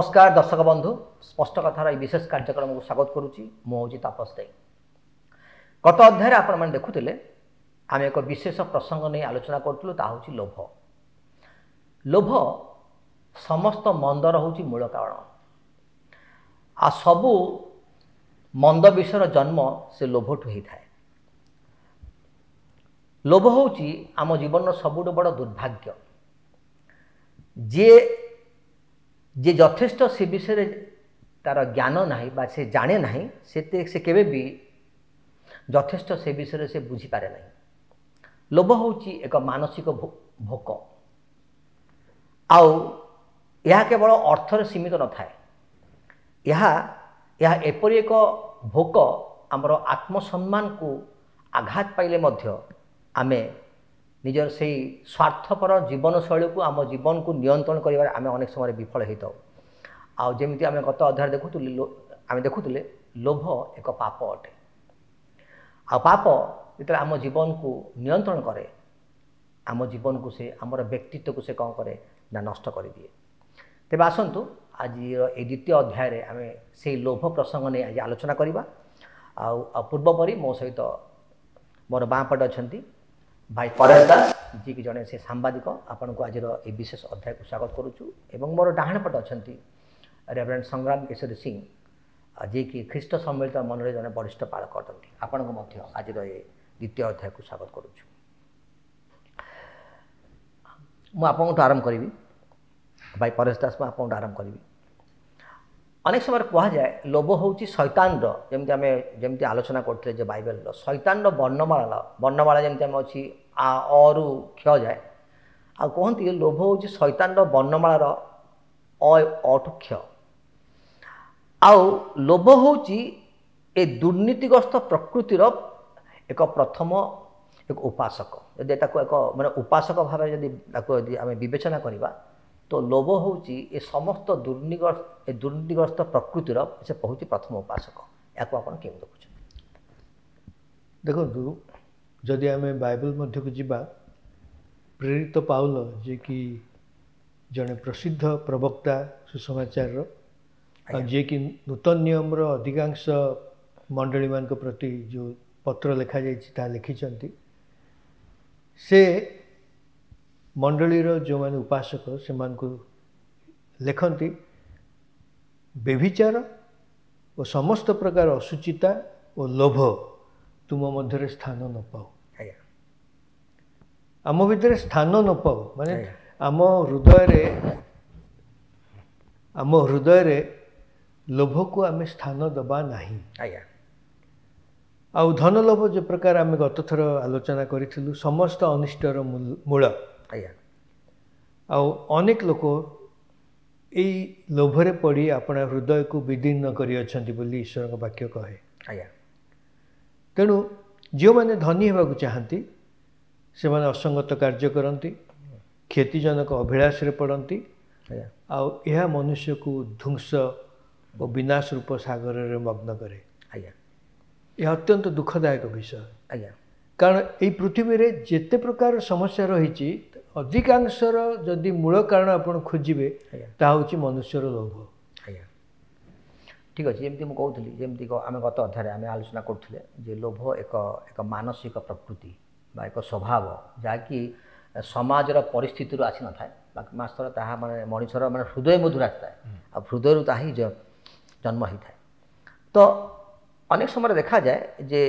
ନମସ୍କାର ଦର୍ଶକ ବନ୍ଧୁ, ସ୍ପଷ୍ଟ କଥାର ଏହି ବିଶେଷ କାର୍ଯ୍ୟକ୍ରମକୁ ସ୍ୱାଗତ କରୁଛି। ମୁଁ ହେଉଛି ତାପସ ଦେ। ଗତ ଅଧ୍ୟାୟରେ ଆପଣମାନେ ଦେଖୁଥିଲେ ଆମେ ଏକ ବିଶେଷ ପ୍ରସଙ୍ଗ ନେଇ ଆଲୋଚନା କରୁଥିଲୁ, ତାହା ହେଉଛି ଲୋଭ। ଲୋଭ ସମସ୍ତ ମନ୍ଦର ହେଉଛି ମୂଳ କାରଣ, ଆଉ ସବୁ ମନ୍ଦ ବିଷୟର ଜନ୍ମ ସେ ଲୋଭଠୁ ହେଇଥାଏ। ଲୋଭ ହେଉଛି ଆମ ଜୀବନର ସବୁଠୁ ବଡ଼ ଦୁର୍ଭାଗ୍ୟ। ଯିଏ ଯିଏ ଯଥେଷ୍ଟ ସେ ବିଷୟରେ ତାର ଜ୍ଞାନ ନାହିଁ ବା ସେ ଜାଣେ ନାହିଁ, ସେ କେବେ ବି ଯଥେଷ୍ଟ ସେ ବିଷୟରେ ସେ ବୁଝିପାରେ ନାହିଁ। ଲୋଭ ହେଉଛି ଏକ ମାନସିକ ଭୋକ, ଆଉ ଏହା କେବଳ ଅର୍ଥରେ ସୀମିତ ନଥାଏ। ଏହା ଏହା ଏପରି ଏକ ଭୋକ, ଆମର ଆତ୍ମସମ୍ମାନକୁ ଆଘାତ ପାଇଲେ ମଧ୍ୟ ଆମେ ନିଜର ସେଇ ସ୍ୱାର୍ଥପର ଜୀବନଶୈଳୀକୁ, ଆମ ଜୀବନକୁ ନିୟନ୍ତ୍ରଣ କରିବାରେ ଆମେ ଅନେକ ସମୟରେ ବିଫଳ ହୋଇଥାଉ। ଆଉ ଯେମିତି ଆମେ ଗତ ଅଧ୍ୟାୟରେ ଦେଖୁଥିଲେ, ଆମେ ଦେଖୁଥିଲେ ଲୋଭ ଏକ ପାପ ଅଟେ। ଆଉ ପାପ ଯେତେବେଳେ ଆମ ଜୀବନକୁ ନିୟନ୍ତ୍ରଣ କରେ, ଆମ ଜୀବନକୁ ସେ, ଆମର ବ୍ୟକ୍ତିତ୍ୱକୁ ସେ କ'ଣ କରେ ନା ନଷ୍ଟ କରିଦିଏ। ତେବେ ଆସନ୍ତୁ ଆଜିର ଏଇ ଦ୍ୱିତୀୟ ଅଧ୍ୟାୟରେ ଆମେ ସେଇ ଲୋଭ ପ୍ରସଙ୍ଗ ନେଇ ଆଜି ଆଲୋଚନା କରିବା। ଆଉ ପୂର୍ବ ପରି ମୋ ସହିତ ମୋର ବାଁ ପଟେ ଅଛନ୍ତି ଭାଇ ପରେଶ ଦାସ, ଯିଏକି ଜଣେ ସେ ସାମ୍ବାଦିକ। ଆପଣଙ୍କୁ ଆଜିର ଏହି ବିଶେଷ ଅଧ୍ୟାୟକୁ ସ୍ୱାଗତ କରୁଛୁ। ଏବଂ ମୋର ଡାହାଣ ପଟେ ଅଛନ୍ତି ରେଭରେଣ୍ଡ ସଂଗ୍ରାମ କେଶରୀ ସିଂ, ଯିଏକି ଖ୍ରୀଷ୍ଟ ସମ୍ମିଳିତ ମନରେ ଜଣେ ବରିଷ୍ଠ ପାଳକ ଅଟନ୍ତି। ଆପଣଙ୍କୁ ମଧ୍ୟ ଆଜିର ଏ ଦ୍ୱିତୀୟ ଅଧ୍ୟାୟକୁ ସ୍ୱାଗତ କରୁଛୁ। ମୁଁ ଆପଣଙ୍କଠୁ ଆରମ୍ଭ କରିବି ଭାଇ ପରେଶ ଦାସ, ମୁଁ ଆପଣଙ୍କଠୁ ଆରମ୍ଭ କରିବି। ଅନେକ ସମୟରେ କୁହାଯାଏ ଲୋଭ ହେଉଛି ଶୈତାନର, ଯେମିତି ଆମେ ଯେମିତି ଆଲୋଚନା କରୁଥିଲେ ଯେ ବାଇବେଲର ଶୈତାନର ବର୍ଣ୍ଣମାଳା ଯେମିତି ଆମେ ଅଛି ଆ ଅରୁ କ୍ଷ ଯାଏ, ଆଉ କୁହନ୍ତି ଲୋଭ ହେଉଛି ଶୈତାନର ବର୍ଣ୍ଣମାଳାର ଅ ଅଠୁ କ୍ଷ। ଆଉ ଲୋଭ ହେଉଛି ଏ ଦୁର୍ନୀତିଗ୍ରସ୍ତ ପ୍ରକୃତିର ଏକ ପ୍ରଥମ ଏକ ଉପାସକ। ଯଦି ତାକୁ ଏକ ମାନେ ଉପାସକ ଭାବରେ ଯଦି ତାକୁ ଯଦି ଆମେ ବିବେଚନା କରିବା, ତ ଲୋଭ ହେଉଛି ଏ ସମସ୍ତ ଦୁର୍ନୀତିଗ୍ରସ୍ତ ପ୍ରକୃତିର ସେ ହେଉଛି ପ୍ରଥମ ଉପାସକ। ଏହାକୁ ଆପଣ କେମିତି ଦେଖୁଛନ୍ତି? ଦେଖନ୍ତୁ, ଯଦି ଆମେ ବାଇବେଲ ମଧ୍ୟକୁ ଯିବା, ପ୍ରେରିତ ପାଉଲ ଯିଏକି ଜଣେ ପ୍ରସିଦ୍ଧ ପ୍ରବକ୍ତା ସୁସମାଚାରର, ଆଉ ଯିଏକି ନୂତନ ନିୟମର ଅଧିକାଂଶ ମଣ୍ଡଳୀମାନଙ୍କ ପ୍ରତି ଯେଉଁ ପତ୍ର ଲେଖାଯାଇଛି ତାହା ଲେଖିଛନ୍ତି, ସେ ମଣ୍ଡଳୀର ଯେଉଁମାନେ ଉପାସକ ସେମାନଙ୍କୁ ଲେଖନ୍ତି, ବ୍ୟଭିଚାର ଓ ସମସ୍ତ ପ୍ରକାର ଅଶୁଚିତା ଓ ଲୋଭ ତୁମ ମଧ୍ୟରେ ସ୍ଥାନ ନ ପାଉ। ଆମ ଭିତରେ ସ୍ଥାନ ନ ପାଉ ମାନେ ଆମ ହୃଦୟରେ ଲୋଭକୁ ଆମେ ସ୍ଥାନ ଦେବା ନାହିଁ। ଆଉ ଧନ ଲୋଭ ଯେ ପ୍ରକାର ଆମେ ଗତଥର ଆଲୋଚନା କରିଥିଲୁ, ସମସ୍ତ ଅନିଷ୍ଟର ମୂଳ। ଆଉ ଅନେକ ଲୋକ ଏଇ ଲୋଭରେ ପଡ଼ି ଆପଣା ହୃଦୟକୁ ବିଦୀର୍ଣ୍ଣ କରିଅଛନ୍ତି ବୋଲି ଈଶ୍ୱରଙ୍କ ବାକ୍ୟ କହେ। ତେଣୁ ଯେଉଁମାନେ ଧନୀ ହେବାକୁ ଚାହାନ୍ତି ସେମାନେ ଅସଙ୍ଗତ କାର୍ଯ୍ୟ କରନ୍ତି, କ୍ଷତିଜନକ ଅଭିଳାଷରେ ପଡ଼ନ୍ତି, ଆଉ ଏହା ମନୁଷ୍ୟକୁ ଧ୍ୱଂସ ଓ ବିନାଶ ରୂପ ସାଗରରେ ମଗ୍ନ କରେ। ଏହା ଅତ୍ୟନ୍ତ ଦୁଃଖଦାୟକ ବିଷୟ। କାରଣ ଏଇ ପୃଥିବୀରେ ଯେତେ ପ୍ରକାର ସମସ୍ୟା ରହିଛି, ଅଧିକାଂଶର ଯଦି ମୂଳ କାରଣ ଆପଣ ଖୋଜିବେ ତାହା ହେଉଛି ମନୁଷ୍ୟର ଲୋଭ। ଆଜ୍ଞା, ଠିକ୍ ଅଛି। ଯେମିତି ମୁଁ କହୁଥିଲି, ଯେମିତି ଆମେ ଗତ ଅଧ୍ୟାୟରେ ଆମେ ଆଲୋଚନା କରୁଥିଲେ ଯେ ଲୋଭ ଏକ ଏକ ମାନସିକ ପ୍ରକୃତି ବା ଏକ ସ୍ୱଭାବ, ଯାହାକି ସମାଜର ପରିସ୍ଥିତିରୁ ଆସିନଥାଏ, ବାକି ମାସର ତାହା ମାନେ ମଣିଷର ମାନେ ହୃଦୟ ମଧ୍ୟରୁ ଆସିଥାଏ, ଆଉ ହୃଦୟରୁ ତାହା ହିଁ ଜନ୍ମ ହେଇଥାଏ। ତ ଅନେକ ସମୟରେ ଦେଖାଯାଏ ଯେ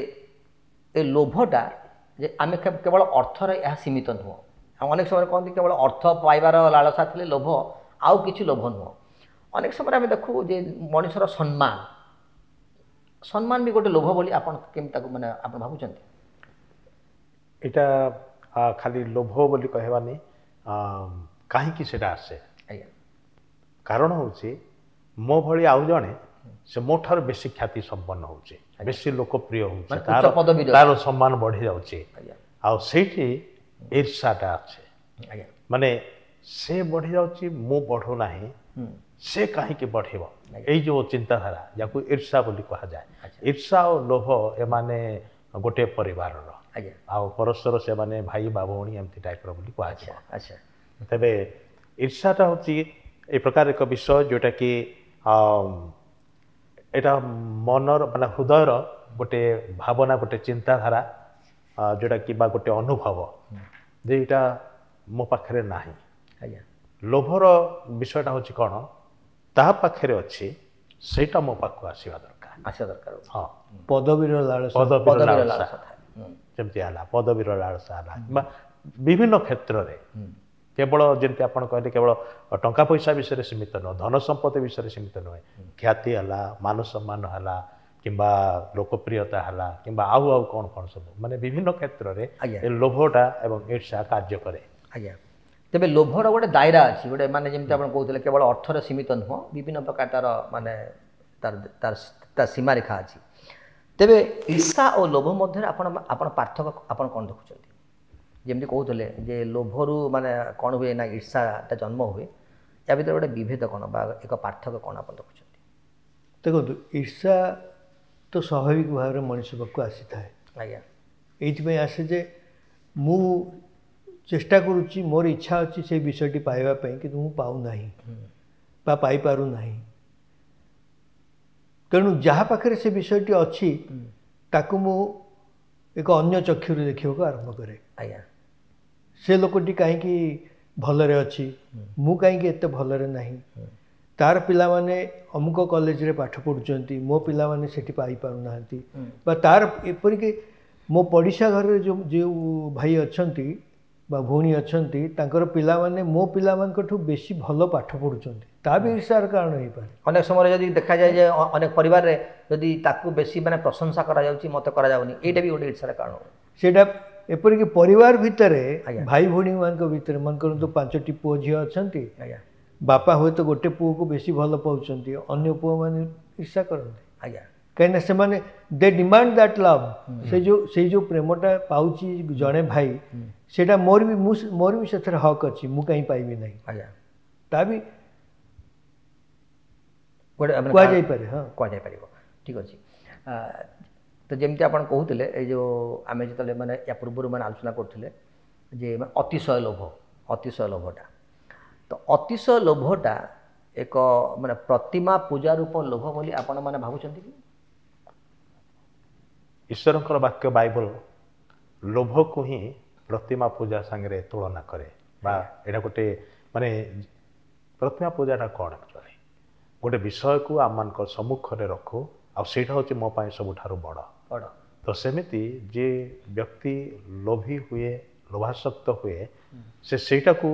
ଏ ଲୋଭଟା ଯେ ଆମେ କେବଳ ଅର୍ଥରେ ଏହା ସୀମିତ ନୁହଁ। ଆଉ ଅନେକ ସମୟରେ କହନ୍ତି କେବଳ ଅର୍ଥ ପାଇବାର ଲାଳସା ଥିଲେ ଲୋଭ, ଆଉ କିଛି ଲୋଭ ନୁହଁ। ଅନେକ ସମୟରେ ଆମେ ଦେଖୁ ଯେ ମଣିଷର ସମ୍ମାନ ବି ଗୋଟେ ଲୋଭ ବୋଲି ଆପଣ କେମିତି ତାକୁ ମାନେ ଆପଣ ଭାବୁଛନ୍ତି? ଏଇଟା ଖାଲି ଲୋଭ ବୋଲି କହିବାନି। କାହିଁକି ସେଇଟା ଆସେ? ଆଜ୍ଞା, କାରଣ ହେଉଛି ମୋ ଭଳି ଆଉ ଜଣେ ସେ ମୋ ଠାରୁ ବେଶୀ ଖ୍ୟାତି ସମ୍ପନ୍ନ ହେଉଛି, ବେଶୀ ଲୋକପ୍ରିୟ ହେଉଛି, ତାର ସମ୍ମାନ ବଢ଼ି ଯାଉଛି, ଆଉ ସେଇଠି ଈର୍ଷାଟା ଅଛି। ମାନେ ସେ ବଢ଼ିଯାଉଛି, ମୁଁ ବଢ଼ୁନାହିଁ, ସେ କାହିଁକି ବଢ଼ିବ? ଏଇ ଯେଉଁ ଚିନ୍ତାଧାରା, ଯାହାକୁ ଈର୍ଷା ବୋଲି କୁହାଯାଏ। ଈର୍ଷା ଓ ଲୋଭ ଏମାନେ ଗୋଟିଏ ପରିବାରର, ଆଉ ପରସ୍ପର ସେମାନେ ଭାଇ ବା ଭଉଣୀ ଏମିତି ଟାଇପ୍ର ବୋଲି କୁହାଯିବ। ତେବେ ଈର୍ଷାଟା ହେଉଛି ଏ ପ୍ରକାର ଏକ ବିଷୟ ଯେଉଁଟାକି ଏଇଟା ମନର ମାନେ ହୃଦୟର ଗୋଟେ ଭାବନା, ଗୋଟେ ଚିନ୍ତାଧାରା, ଯେଉଁଟାକି ବା ଗୋଟେ ଅନୁଭବ ଯେ ଏଇଟା ମୋ ପାଖରେ ନାହିଁ। ଆଜ୍ଞା। ଲୋଭର ବିଷୟଟା ହେଉଛି କ'ଣ, ତା ପାଖରେ ଅଛି ସେଇଟା ମୋ ପାଖକୁ ଆସିବା ଦରକାର, ଆସିବା ଦରକାର। ହଁ, ପଦବୀର ଲାଳସା, ପଦବୀର ଲାଳସା ଯେମିତି ହେଲା, ପଦବୀର ଲାଳସା ହେଲା କିମ୍ବା ବିଭିନ୍ନ କ୍ଷେତ୍ରରେ, କେବଳ ଯେମିତି ଆପଣ କହିଲେ କେବଳ ଟଙ୍କା ପଇସା ବିଷୟରେ ସୀମିତ ନୁହଁ, ଧନ ସମ୍ପତ୍ତି ବିଷୟରେ ସୀମିତ ନୁହେଁ, ଖ୍ୟାତି ହେଲା, ମାନ ସମ୍ମାନ ହେଲା, କିମ୍ବା ଲୋକପ୍ରିୟତା ହେଲା, କିମ୍ବା ଆଉ ଆଉ କ'ଣ କ'ଣ ସବୁ, ମାନେ ବିଭିନ୍ନ କ୍ଷେତ୍ରରେ ଏ ଲୋଭଟା ଏବଂ ଈର୍ଷା କାର୍ଯ୍ୟ କରେ। ଆଜ୍ଞା। ତେବେ ଲୋଭର ଗୋଟେ ଦାୟରା ଅଛି, ଗୋଟେ ମାନେ ଯେମିତି ଆପଣ କହୁଥିଲେ କେବଳ ଅର୍ଥରେ ସୀମିତ ନୁହଁ, ବିଭିନ୍ନ ପ୍ରକାର ତାର ମାନେ ତାର ତାର ତା ସୀମାରେଖା ଅଛି। ତେବେ ଈର୍ଷା ଓ ଲୋଭ ମଧ୍ୟରେ ଆପଣ ଆପଣ ପାର୍ଥକ୍ୟ ଆପଣ କ'ଣ ଦେଖୁଛନ୍ତି? ଯେମିତି କହୁଥିଲେ ଯେ ଲୋଭରୁ ମାନେ କ'ଣ ହୁଏ ନା ଈର୍ଷାଟା ଜନ୍ମ ହୁଏ, ୟା ଭିତରେ ଗୋଟେ ବିଭେଦ କ'ଣ ବା ଏକ ପାର୍ଥକ୍ୟ କ'ଣ ଆପଣ ଦେଖୁଛନ୍ତି? ଦେଖନ୍ତୁ, ଈର୍ଷା ତ ସ୍ୱାଭାବିକ ଭାବରେ ମଣିଷ ପାଖକୁ ଆସିଥାଏ। ଆଜ୍ଞା। ଏଇଥିପାଇଁ ଆସେ ଯେ ମୁଁ ଚେଷ୍ଟା କରୁଛି, ମୋର ଇଚ୍ଛା ଅଛି ସେଇ ବିଷୟଟି ପାଇବା ପାଇଁ, କିନ୍ତୁ ମୁଁ ପାଉନାହିଁ ବା ପାଇପାରୁନାହିଁ। ତେଣୁ ଯାହା ପାଖରେ ସେ ବିଷୟଟି ଅଛି ତାକୁ ମୁଁ ଏକ ଅନ୍ୟ ଚକ୍ଷୁରେ ଦେଖିବାକୁ ଆରମ୍ଭ କରେ। ଆଜ୍ଞା। ସେ ଲୋକଟି କାହିଁକି ଭଲରେ ଅଛି, ମୁଁ କାହିଁକି ଏତେ ଭଲରେ ନାହିଁ, ତାର ପିଲାମାନେ ଅମୁକ କଲେଜରେ ପାଠ ପଢ଼ୁଛନ୍ତି, ମୋ ପିଲାମାନେ ସେଠି ପାଇପାରୁନାହାନ୍ତି, ବା ତାର ଏପରିକି ମୋ ପଡ଼ିଶା ଘରରେ ଯେଉଁ ଯେଉଁ ଭାଇ ଅଛନ୍ତି ବା ଭଉଣୀ ଅଛନ୍ତି, ତାଙ୍କର ପିଲାମାନେ ମୋ ପିଲାମାନଙ୍କଠୁ ବେଶୀ ଭଲ ପାଠ ପଢ଼ୁଛନ୍ତି, ତା ବି ଈର୍ଷାର କାରଣ ହେଇପାରେ। ଅନେକ ସମୟରେ ଯଦି ଦେଖାଯାଏ ଯେ ଅନେକ ପରିବାରରେ ଯଦି ତାକୁ ବେଶୀ ମାନେ ପ୍ରଶଂସା କରାଯାଉଛି, ମୋତେ କରାଯାଉନି, ଏଇଟା ବି ଗୋଟେ ଈର୍ଷାର କାରଣ। ସେଇଟା ଏପରିକି ପରିବାର ଭିତରେ, ଭାଇ ଭଉଣୀମାନଙ୍କ ଭିତରେ, ମନେ କରନ୍ତୁ 5ଟି ପୁଅ ଝିଅ ଅଛନ୍ତି, ବାପା ହୁଏତ ଗୋଟେ ପୁଅକୁ ବେଶୀ ଭଲ ପାଉଛନ୍ତି, ଅନ୍ୟ ପୁଅମାନେ ଈର୍ଷା କରନ୍ତି। ଆଜ୍ଞା। କାହିଁକିନା ସେମାନେ ଦେ ଡିମାଣ୍ଡ that love. ସେଇ ଯେଉଁ ପ୍ରେମଟା ପାଉଛି ଜଣେ ଭାଇ, ସେଇଟା ମୋର ବି, ମୁଁ ମୋର ବି ସେଥିରେ ହକ୍ ଅଛି, ମୁଁ କାହିଁ ପାଇବି ନାହିଁ। ଆଜ୍ଞା। ତା ବି ଗୋଟେ କୁହାଯାଇପାରେ। ହଁ, କୁହାଯାଇପାରିବ। ଠିକ୍ ଅଛି। ତ ଯେମିତି ଆପଣ କହୁଥିଲେ, ଏଇ ଯେଉଁ ଆମେ ଯେତେବେଳେ ମାନେ ୟା ପୂର୍ବରୁ ମାନେ ଆଲୋଚନା କରୁଥିଲେ ଯେ ଅତିଶୟ ଲୋଭ, ଅତିଶୟ ଲୋଭଟା, ତ ଅତିଶୟ ଲୋଭଟା ଏକ ମାନେ ପ୍ରତିମା ପୂଜା ରୂପ ଲୋଭ ବୋଲି ଆପଣମାନେ ଭାବୁଛନ୍ତି କି? ଈଶ୍ୱରଙ୍କର ବାକ୍ୟ ବାଇବଲ ଲୋଭକୁ ହିଁ ପ୍ରତିମା ପୂଜା ସାଙ୍ଗରେ ତୁଳନା କରେ, ବା ଏଇଟା ଗୋଟେ ମାନେ ପ୍ରତିମା ପୂଜାଟା କ'ଣ ଆକ୍ଚୁଆଲି, ଗୋଟେ ବିଷୟକୁ ଆମମାନଙ୍କ ସମ୍ମୁଖରେ ରଖୁ ଆଉ ସେଇଟା ହେଉଛି ମୋ ପାଇଁ ସବୁଠାରୁ ବଡ଼ ବଡ଼। ତ ସେମିତି ଯେ ବ୍ୟକ୍ତି ଲୋଭୀ ହୁଏ, ଲୋଭାସକ୍ତ ହୁଏ, ସେ ସେଇଟାକୁ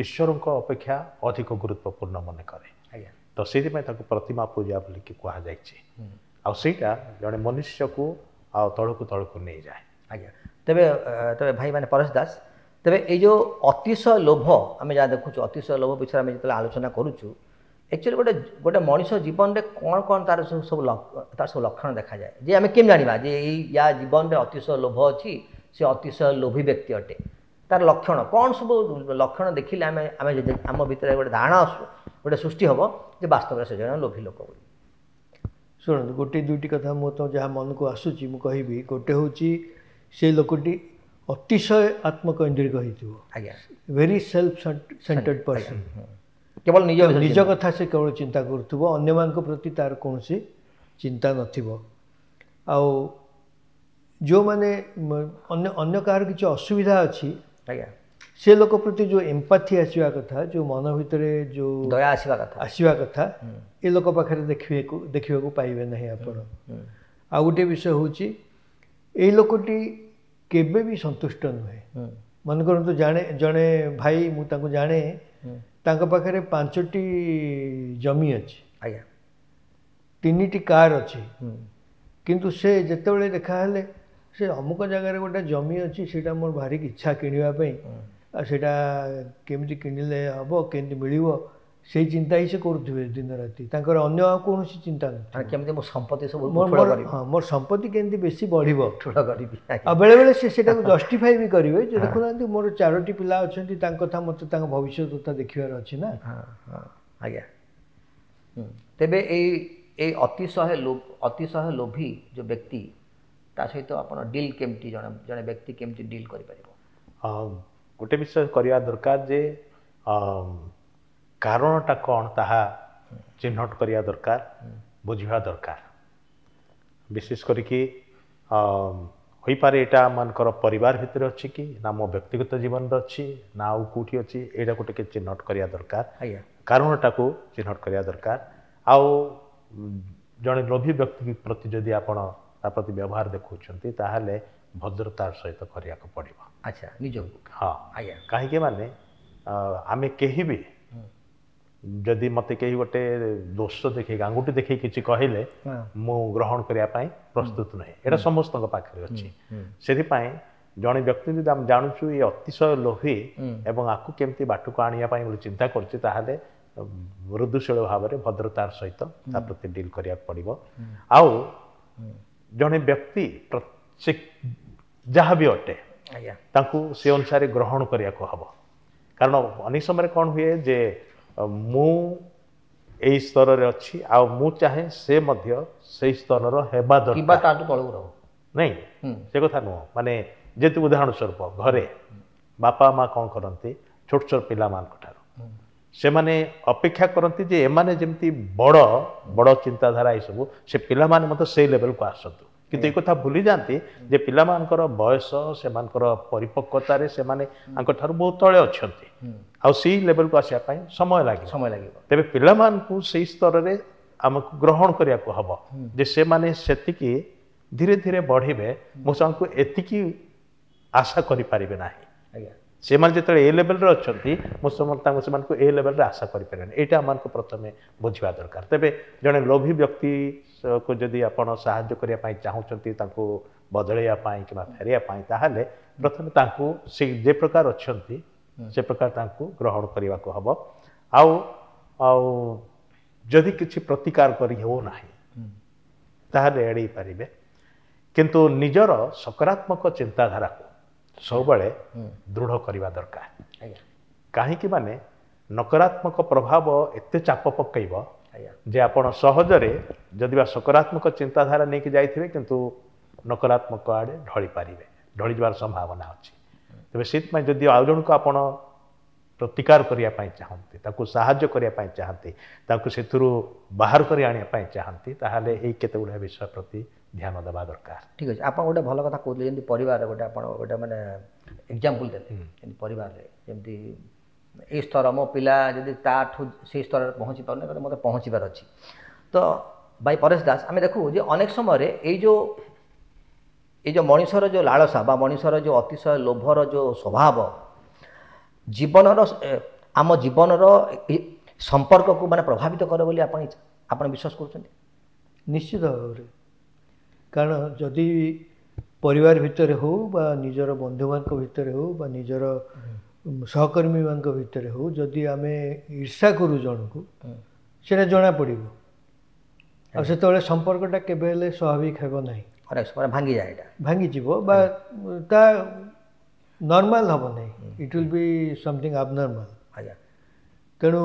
ଈଶ୍ୱରଙ୍କ ଅପେକ୍ଷା ଅଧିକ ଗୁରୁତ୍ୱପୂର୍ଣ୍ଣ ମନେ କରେ। ଆଜ୍ଞା। ତ ସେଇଥିପାଇଁ ତାକୁ ପ୍ରତିମା ପୂଜା ବୋଲିକି କୁହାଯାଇଛି, ଆଉ ସେଇଟା ଜଣେ ମନୁଷ୍ୟକୁ ଆଉ ତଳକୁ ତଳକୁ ନେଇଯାଏ। ଆଜ୍ଞା। ତେବେ ତେବେ ଭାଇମାନେ ପରେଶ ଦାସ, ତେବେ ଏଇ ଯେଉଁ ଅତିଶୟ ଲୋଭ ଆମେ ଯାହା ଦେଖୁଛୁ, ଅତିଶୟ ଲୋଭ ବିଷୟରେ ଆମେ ଯେତେବେଳେ ଆଲୋଚନା କରୁଛୁ, ଆକ୍ଚୁଆଲି ଗୋଟେ ଗୋଟେ ମଣିଷ ଜୀବନରେ କ'ଣ କ'ଣ ତାର ସବୁ ସବୁ ତାର ସବୁ ଲକ୍ଷଣ ଦେଖାଯାଏ, ଯେ ଆମେ କେମିତି ଜାଣିବା ଯେ ଏଇ ୟା ଜୀବନରେ ଅତିଶୟ ଲୋଭ ଅଛି, ସେ ଅତିଶୟ ଲୋଭୀ ବ୍ୟକ୍ତି ଅଟେ, ତାର ଲକ୍ଷଣ କ'ଣ ସବୁ ଲକ୍ଷଣ ଦେଖିଲେ ଆମେ ଆମେ ଆମ ଭିତରେ ଗୋଟେ ଧାରଣା ଗୋଟେ ସୃଷ୍ଟି ହେବ ଯେ ବାସ୍ତବରେ ସେ ଜଣେ ଲୋଭୀ ଲୋକ ବୋଲି? ଶୁଣନ୍ତୁ, ଗୋଟେ ଦୁଇଟି କଥା ମୁଁ ତ ଯାହା ମନକୁ ଆସୁଛି ମୁଁ କହିବି। ଗୋଟେ ହେଉଛି ସେ ଲୋକଟି ଅତିଶୟ ଆତ୍ମକୈନ୍ଦ୍ରିକ ହେଇଥିବ। ଆଜ୍ଞା। ଭେରି ସେଲ୍ଫ ସେଣ୍ଟର୍ଡ ପର୍ସନ୍, କେବଳ ନିଜ କଥା ସେ କେବଳ ଚିନ୍ତା କରୁଥିବ, ଅନ୍ୟମାନଙ୍କ ପ୍ରତି ତାର କୌଣସି ଚିନ୍ତା ନଥିବ। ଆଉ ଯେଉଁମାନେ ଅନ୍ୟ ଅନ୍ୟ କାହାର କିଛି ଅସୁବିଧା ଅଛି, ଆଜ୍ଞା, ସେ ଲୋକ ପ୍ରତି ଯେଉଁ ଏମ୍ପାଥି ଆସିବା କଥା, ଯେଉଁ ମନ ଭିତରେ ଯେଉଁ ଦୟା ଆସିବା କଥା ଆସିବା କଥା, ଏ ଲୋକ ପାଖରେ ଦେଖିବାକୁ ପାଇବେ ନାହିଁ ଆପଣ। ଆଉ ଗୋଟିଏ ବିଷୟ ହେଉଛି ଏଇ ଲୋକଟି କେବେ ବି ସନ୍ତୁଷ୍ଟ ନୁହେଁ। ମନେ କରନ୍ତୁ ଜଣେ ଭାଇ, ମୁଁ ତାଙ୍କୁ ଜାଣେ, ତାଙ୍କ ପାଖରେ 5ଟି ଜମି ଅଛି, ଆଜ୍ଞା, 3ଟି କାର୍ ଅଛି, କିନ୍ତୁ ସେ ଯେତେବେଳେ ଦେଖାହେଲେ ସେ ଅମୁକ ଜାଗାରେ ଗୋଟେ ଜମି ଅଛି, ସେଇଟା ମୋର ଭାରି ଇଚ୍ଛା କିଣିବା ପାଇଁ, ଆଉ ସେଇଟା କେମିତି କିଣିଲେ ହେବ, କେମିତି ମିଳିବ, ସେଇ ଚିନ୍ତା ହିଁ ସେ କରୁଥିବେ ଦିନ ରାତି। ତାଙ୍କର ଅନ୍ୟ ଆଉ କୌଣସି ଚିନ୍ତା ନଥିବ, କେମିତି ମୋ ସମ୍ପତ୍ତି ସବୁ ହଁ, ମୋର ସମ୍ପତ୍ତି କେମିତି ବେଶୀ ବଢ଼ିବ ଠୁଳ କରିବି। ଆଉ ବେଳେବେଳେ ସେ ସେଇଟାକୁ ଜଷ୍ଟିଫାଇ ବି କରିବେ ଯେ ଦେଖୁନାହାନ୍ତି ମୋର 4ଟି ପିଲା ଅଛନ୍ତି, ତାଙ୍କ କଥା ମୋତେ ତାଙ୍କ ଭବିଷ୍ୟତ କଥା ଦେଖିବାର ଅଛି ନା। ଆଜ୍ଞା। ତେବେ ଏଇ ଏଇ ଅତିଶୟ ଲୋଭୀ ଯେଉଁ ବ୍ୟକ୍ତି, ତା ସହିତ ଆପଣ ଡିଲ୍ କେମିତି, ଜଣେ ଜଣେ ବ୍ୟକ୍ତି କେମିତି ଡିଲ୍ କରିପାରିବ? ଗୋଟେ ବିଷୟ କରିବା ଦରକାର ଯେ କାରଣଟା କ'ଣ ତାହା ଚିହ୍ନଟ କରିବା ଦରକାର, ବୁଝିବା ଦରକାର। ବିଶେଷ କରିକି ହୋଇପାରେ ଏଇଟା ଆମମାନଙ୍କର ପରିବାର ଭିତରେ ଅଛି କି ନା ମୋ ବ୍ୟକ୍ତିଗତ ଜୀବନରେ ଅଛି ନା ଆଉ କେଉଁଠି ଅଛି, ଏଇଟାକୁ ଟିକେ ଚିହ୍ନଟ କରିବା ଦରକାର, କାରଣଟାକୁ ଚିହ୍ନଟ କରିବା ଦରକାର। ଆଉ ଜଣେ ଲୋଭୀ ବ୍ୟକ୍ତି ପ୍ରତି ଯଦି ଆପଣ ତା ପ୍ରତି ବ୍ୟବହାର ଦେଖାଉଛନ୍ତି ତାହେଲେ ଭଦ୍ରତାର ସହିତ କରିବାକୁ ପଡ଼ିବ। ଆଚ୍ଛା, ନିଜକୁ? ହଁ ଆଜ୍ଞା। କାହିଁକି ମାନେ ଆମେ କେହି ବି ଯଦି ମୋତେ କେହି ଗୋଟେ ଦୋଷ ଦେଖେଇକି ଆଙ୍ଗୁଠି ଦେଖେଇ କିଛି କହିଲେ ମୁଁ ଗ୍ରହଣ କରିବା ପାଇଁ ପ୍ରସ୍ତୁତ ନୁହେଁ, ଏଇଟା ସମସ୍ତଙ୍କ ପାଖରେ ଅଛି। ସେଥିପାଇଁ ଜଣେ ବ୍ୟକ୍ତି ଯଦି ଆମେ ଜାଣୁଛୁ ଏ ଅତିଶୟ ଲୋଭୀ ଏବଂ ଆକୁ କେମିତି ବାଟକୁ ଆଣିବା ପାଇଁ ବୋଲି ଚିନ୍ତା କରୁଛି, ତାହେଲେ ମୃଦୁଶୀଳ ଭାବରେ ଭଦ୍ରତାର ସହିତ ତା ପ୍ରତି ଡିଲ୍ କରିବାକୁ ପଡ଼ିବ। ଆଉ ଜଣେ ବ୍ୟକ୍ତି ସେ ଯାହା ବି ଅଟେ ତାଙ୍କୁ ସେ ଅନୁସାରେ ଗ୍ରହଣ କରିବାକୁ ହେବ। କାରଣ ଅନେକ ସମୟରେ କ'ଣ ହୁଏ ଯେ ମୁଁ ଏଇ ସ୍ତରରେ ଅଛି ଆଉ ମୁଁ ଚାହେଁ ସେ ମଧ୍ୟ ସେଇ ସ୍ତରର ହେବା ଦରକାର, ନାଇଁ ସେ କଥା ନୁହଁ। ମାନେ ଯେହେତୁ ଉଦାହରଣ ସ୍ୱରୂପ ଘରେ ବାପା ମା କ'ଣ କରନ୍ତି, ଛୋଟ ଛୋଟ ପିଲାମାନଙ୍କ ଠାରୁ ସେମାନେ ଅପେକ୍ଷା କରନ୍ତି ଯେ ଏମାନେ ଯେମିତି ବଡ଼ ବଡ଼ ଚିନ୍ତାଧାରା ଏସବୁ, ସେ ପିଲାମାନେ ମଧ୍ୟ ସେଇ ଲେଭେଲକୁ ଆସନ୍ତୁ। କିନ୍ତୁ ଏ କଥା ଭୁଲି ଯାଆନ୍ତି ଯେ ପିଲାମାନଙ୍କର ବୟସ, ସେମାନଙ୍କର ପରିପକ୍ୱତାରେ ସେମାନେ ଆଙ୍କଠାରୁ ବହୁତ ତଳେ ଅଛନ୍ତି, ଆଉ ସେଇ ଲେଭେଲକୁ ଆସିବା ପାଇଁ ସମୟ ଲାଗିବ, ସମୟ ଲାଗିବ। ତେବେ ପିଲାମାନଙ୍କୁ ସେଇ ସ୍ତରରେ ଆମକୁ ଗ୍ରହଣ କରିବାକୁ ହେବ ଯେ ସେମାନେ ସେତିକି ଧୀରେ ଧୀରେ ବଢ଼ିବେ, ମୁଁ ସେମାନଙ୍କୁ ଏତିକି ଆଶା କରିପାରିବେ ନାହିଁ। ଆଜ୍ଞା, ସେମାନେ ଯେତେବେଳେ ଏ ଲେଭେଲରେ ଅଛନ୍ତି ମୁଁ ତାଙ୍କୁ ସେମାନଙ୍କୁ ଏ ଲେଭେଲରେ ଆଶା କରିପାରିବେନି, ଏଇଟା ଆମମାନଙ୍କୁ ପ୍ରଥମେ ବୁଝିବା ଦରକାର। ତେବେ ଜଣେ ଲୋଭୀ ବ୍ୟକ୍ତିକୁ ଯଦି ଆପଣ ସାହାଯ୍ୟ କରିବା ପାଇଁ ଚାହୁଁଛନ୍ତି, ତାଙ୍କୁ ବଦଳେଇବା ପାଇଁ କିମ୍ବା ଫେରିବା ପାଇଁ, ତାହେଲେ ପ୍ରଥମେ ତାଙ୍କୁ ସେ ଯେ ପ୍ରକାର ଅଛନ୍ତି ସେ ପ୍ରକାର ତାଙ୍କୁ ଗ୍ରହଣ କରିବାକୁ ହେବ। ଆଉ ଆଉ ଯଦି କିଛି ପ୍ରତିକାର କରି ହେଉନାହିଁ ତାହେଲେ ଏଡ଼େଇ ପାରିବେ, କିନ୍ତୁ ନିଜର ସକାରାତ୍ମକ ଚିନ୍ତାଧାରାକୁ ସବୁବେଳେ ଦୃଢ଼ କରିବା ଦରକାର। କାହିଁକି ମାନେ ନକାରାତ୍ମକ ପ୍ରଭାବ ଏତେ ଚାପ ପକାଇବ ଯେ ଆପଣ ସହଜରେ ଯଦି ବା ସକାରାତ୍ମକ ଚିନ୍ତାଧାରା ନେଇକି ଯାଇଥିବେ କିନ୍ତୁ ନକାରାତ୍ମକ ଆଡ଼େ ଢଳି ପାରିବେ, ଢଳିଯିବାର ସମ୍ଭାବନା ଅଛି। ତେବେ ସେଥିପାଇଁ ଯଦି ଆଉ ଜଣକୁ ଆପଣ ପ୍ରତିକାର କରିବା ପାଇଁ ଚାହାନ୍ତି, ତାକୁ ସାହାଯ୍ୟ କରିବା ପାଇଁ ଚାହାନ୍ତି, ତାକୁ ସେଥିରୁ ବାହାର କରି ଆଣିବା ପାଇଁ ଚାହାନ୍ତି, ତାହେଲେ ଏଇ କେତେ ଗୁଡ଼ିଏ ବିଷୟ ପ୍ରତି ଧ୍ୟାନ ଦେବା ଦରକାର। ଠିକ୍ ଅଛି, ଆପଣ ଗୋଟେ ଭଲ କଥା କହୁଥିଲେ, ଯେମିତି ପରିବାରରେ ଗୋଟେ ଆପଣ ଗୋଟେ ମାନେ ଏକ୍ଜାମ୍ପଲ୍ ଦେଲେ, ଯେମିତି ପରିବାରରେ ଯେମିତି ଏଇ ସ୍ତର ମୋ ପିଲା ଯଦି ତାଠୁ ସେଇ ସ୍ତରରେ ପହଞ୍ଚି ପାରୁନି ତାହେଲେ ମୋତେ ପହଞ୍ଚିବାର ଅଛି। ତ ବାଇ ପରେଶ ଦାସ ଆମେ ଦେଖୁ ଯେ ଅନେକ ସମୟରେ ଏଇ ଯେଉଁ ମଣିଷର ଯେଉଁ ଲାଳସା ବା ମଣିଷର ଯେଉଁ ଅତିଶୟ ଲୋଭର ଯେଉଁ ସ୍ୱଭାବ ଜୀବନର ଆମ ଜୀବନର ସମ୍ପର୍କକୁ ମାନେ ପ୍ରଭାବିତ କରେ ବୋଲି ଆପଣ ବିଶ୍ୱାସ କରୁଛନ୍ତି? ନିଶ୍ଚିତ ଭାବରେ। କାରଣ ଯଦି ପରିବାର ଭିତରେ ହେଉ ବା ନିଜର ବନ୍ଧୁମାନଙ୍କ ଭିତରେ ହେଉ ବା ନିଜର ସହକର୍ମୀମାନଙ୍କ ଭିତରେ ହେଉ, ଯଦି ଆମେ ଈର୍ଷା କରୁ ଜଣକୁ, ସେଇଟା ଜଣାପଡ଼ିବ, ଆଉ ସେତେବେଳେ ସମ୍ପର୍କଟା କେବେ ହେଲେ ସ୍ୱାଭାବିକ ହେବ ନାହିଁ, ଭାଙ୍ଗିଯାଏ, ଏଇଟା ଭାଙ୍ଗିଯିବ ବା ତା ନର୍ମାଲ ହେବ ନାହିଁ, it will be something abnormal. ଆଜ୍ଞା, ତେଣୁ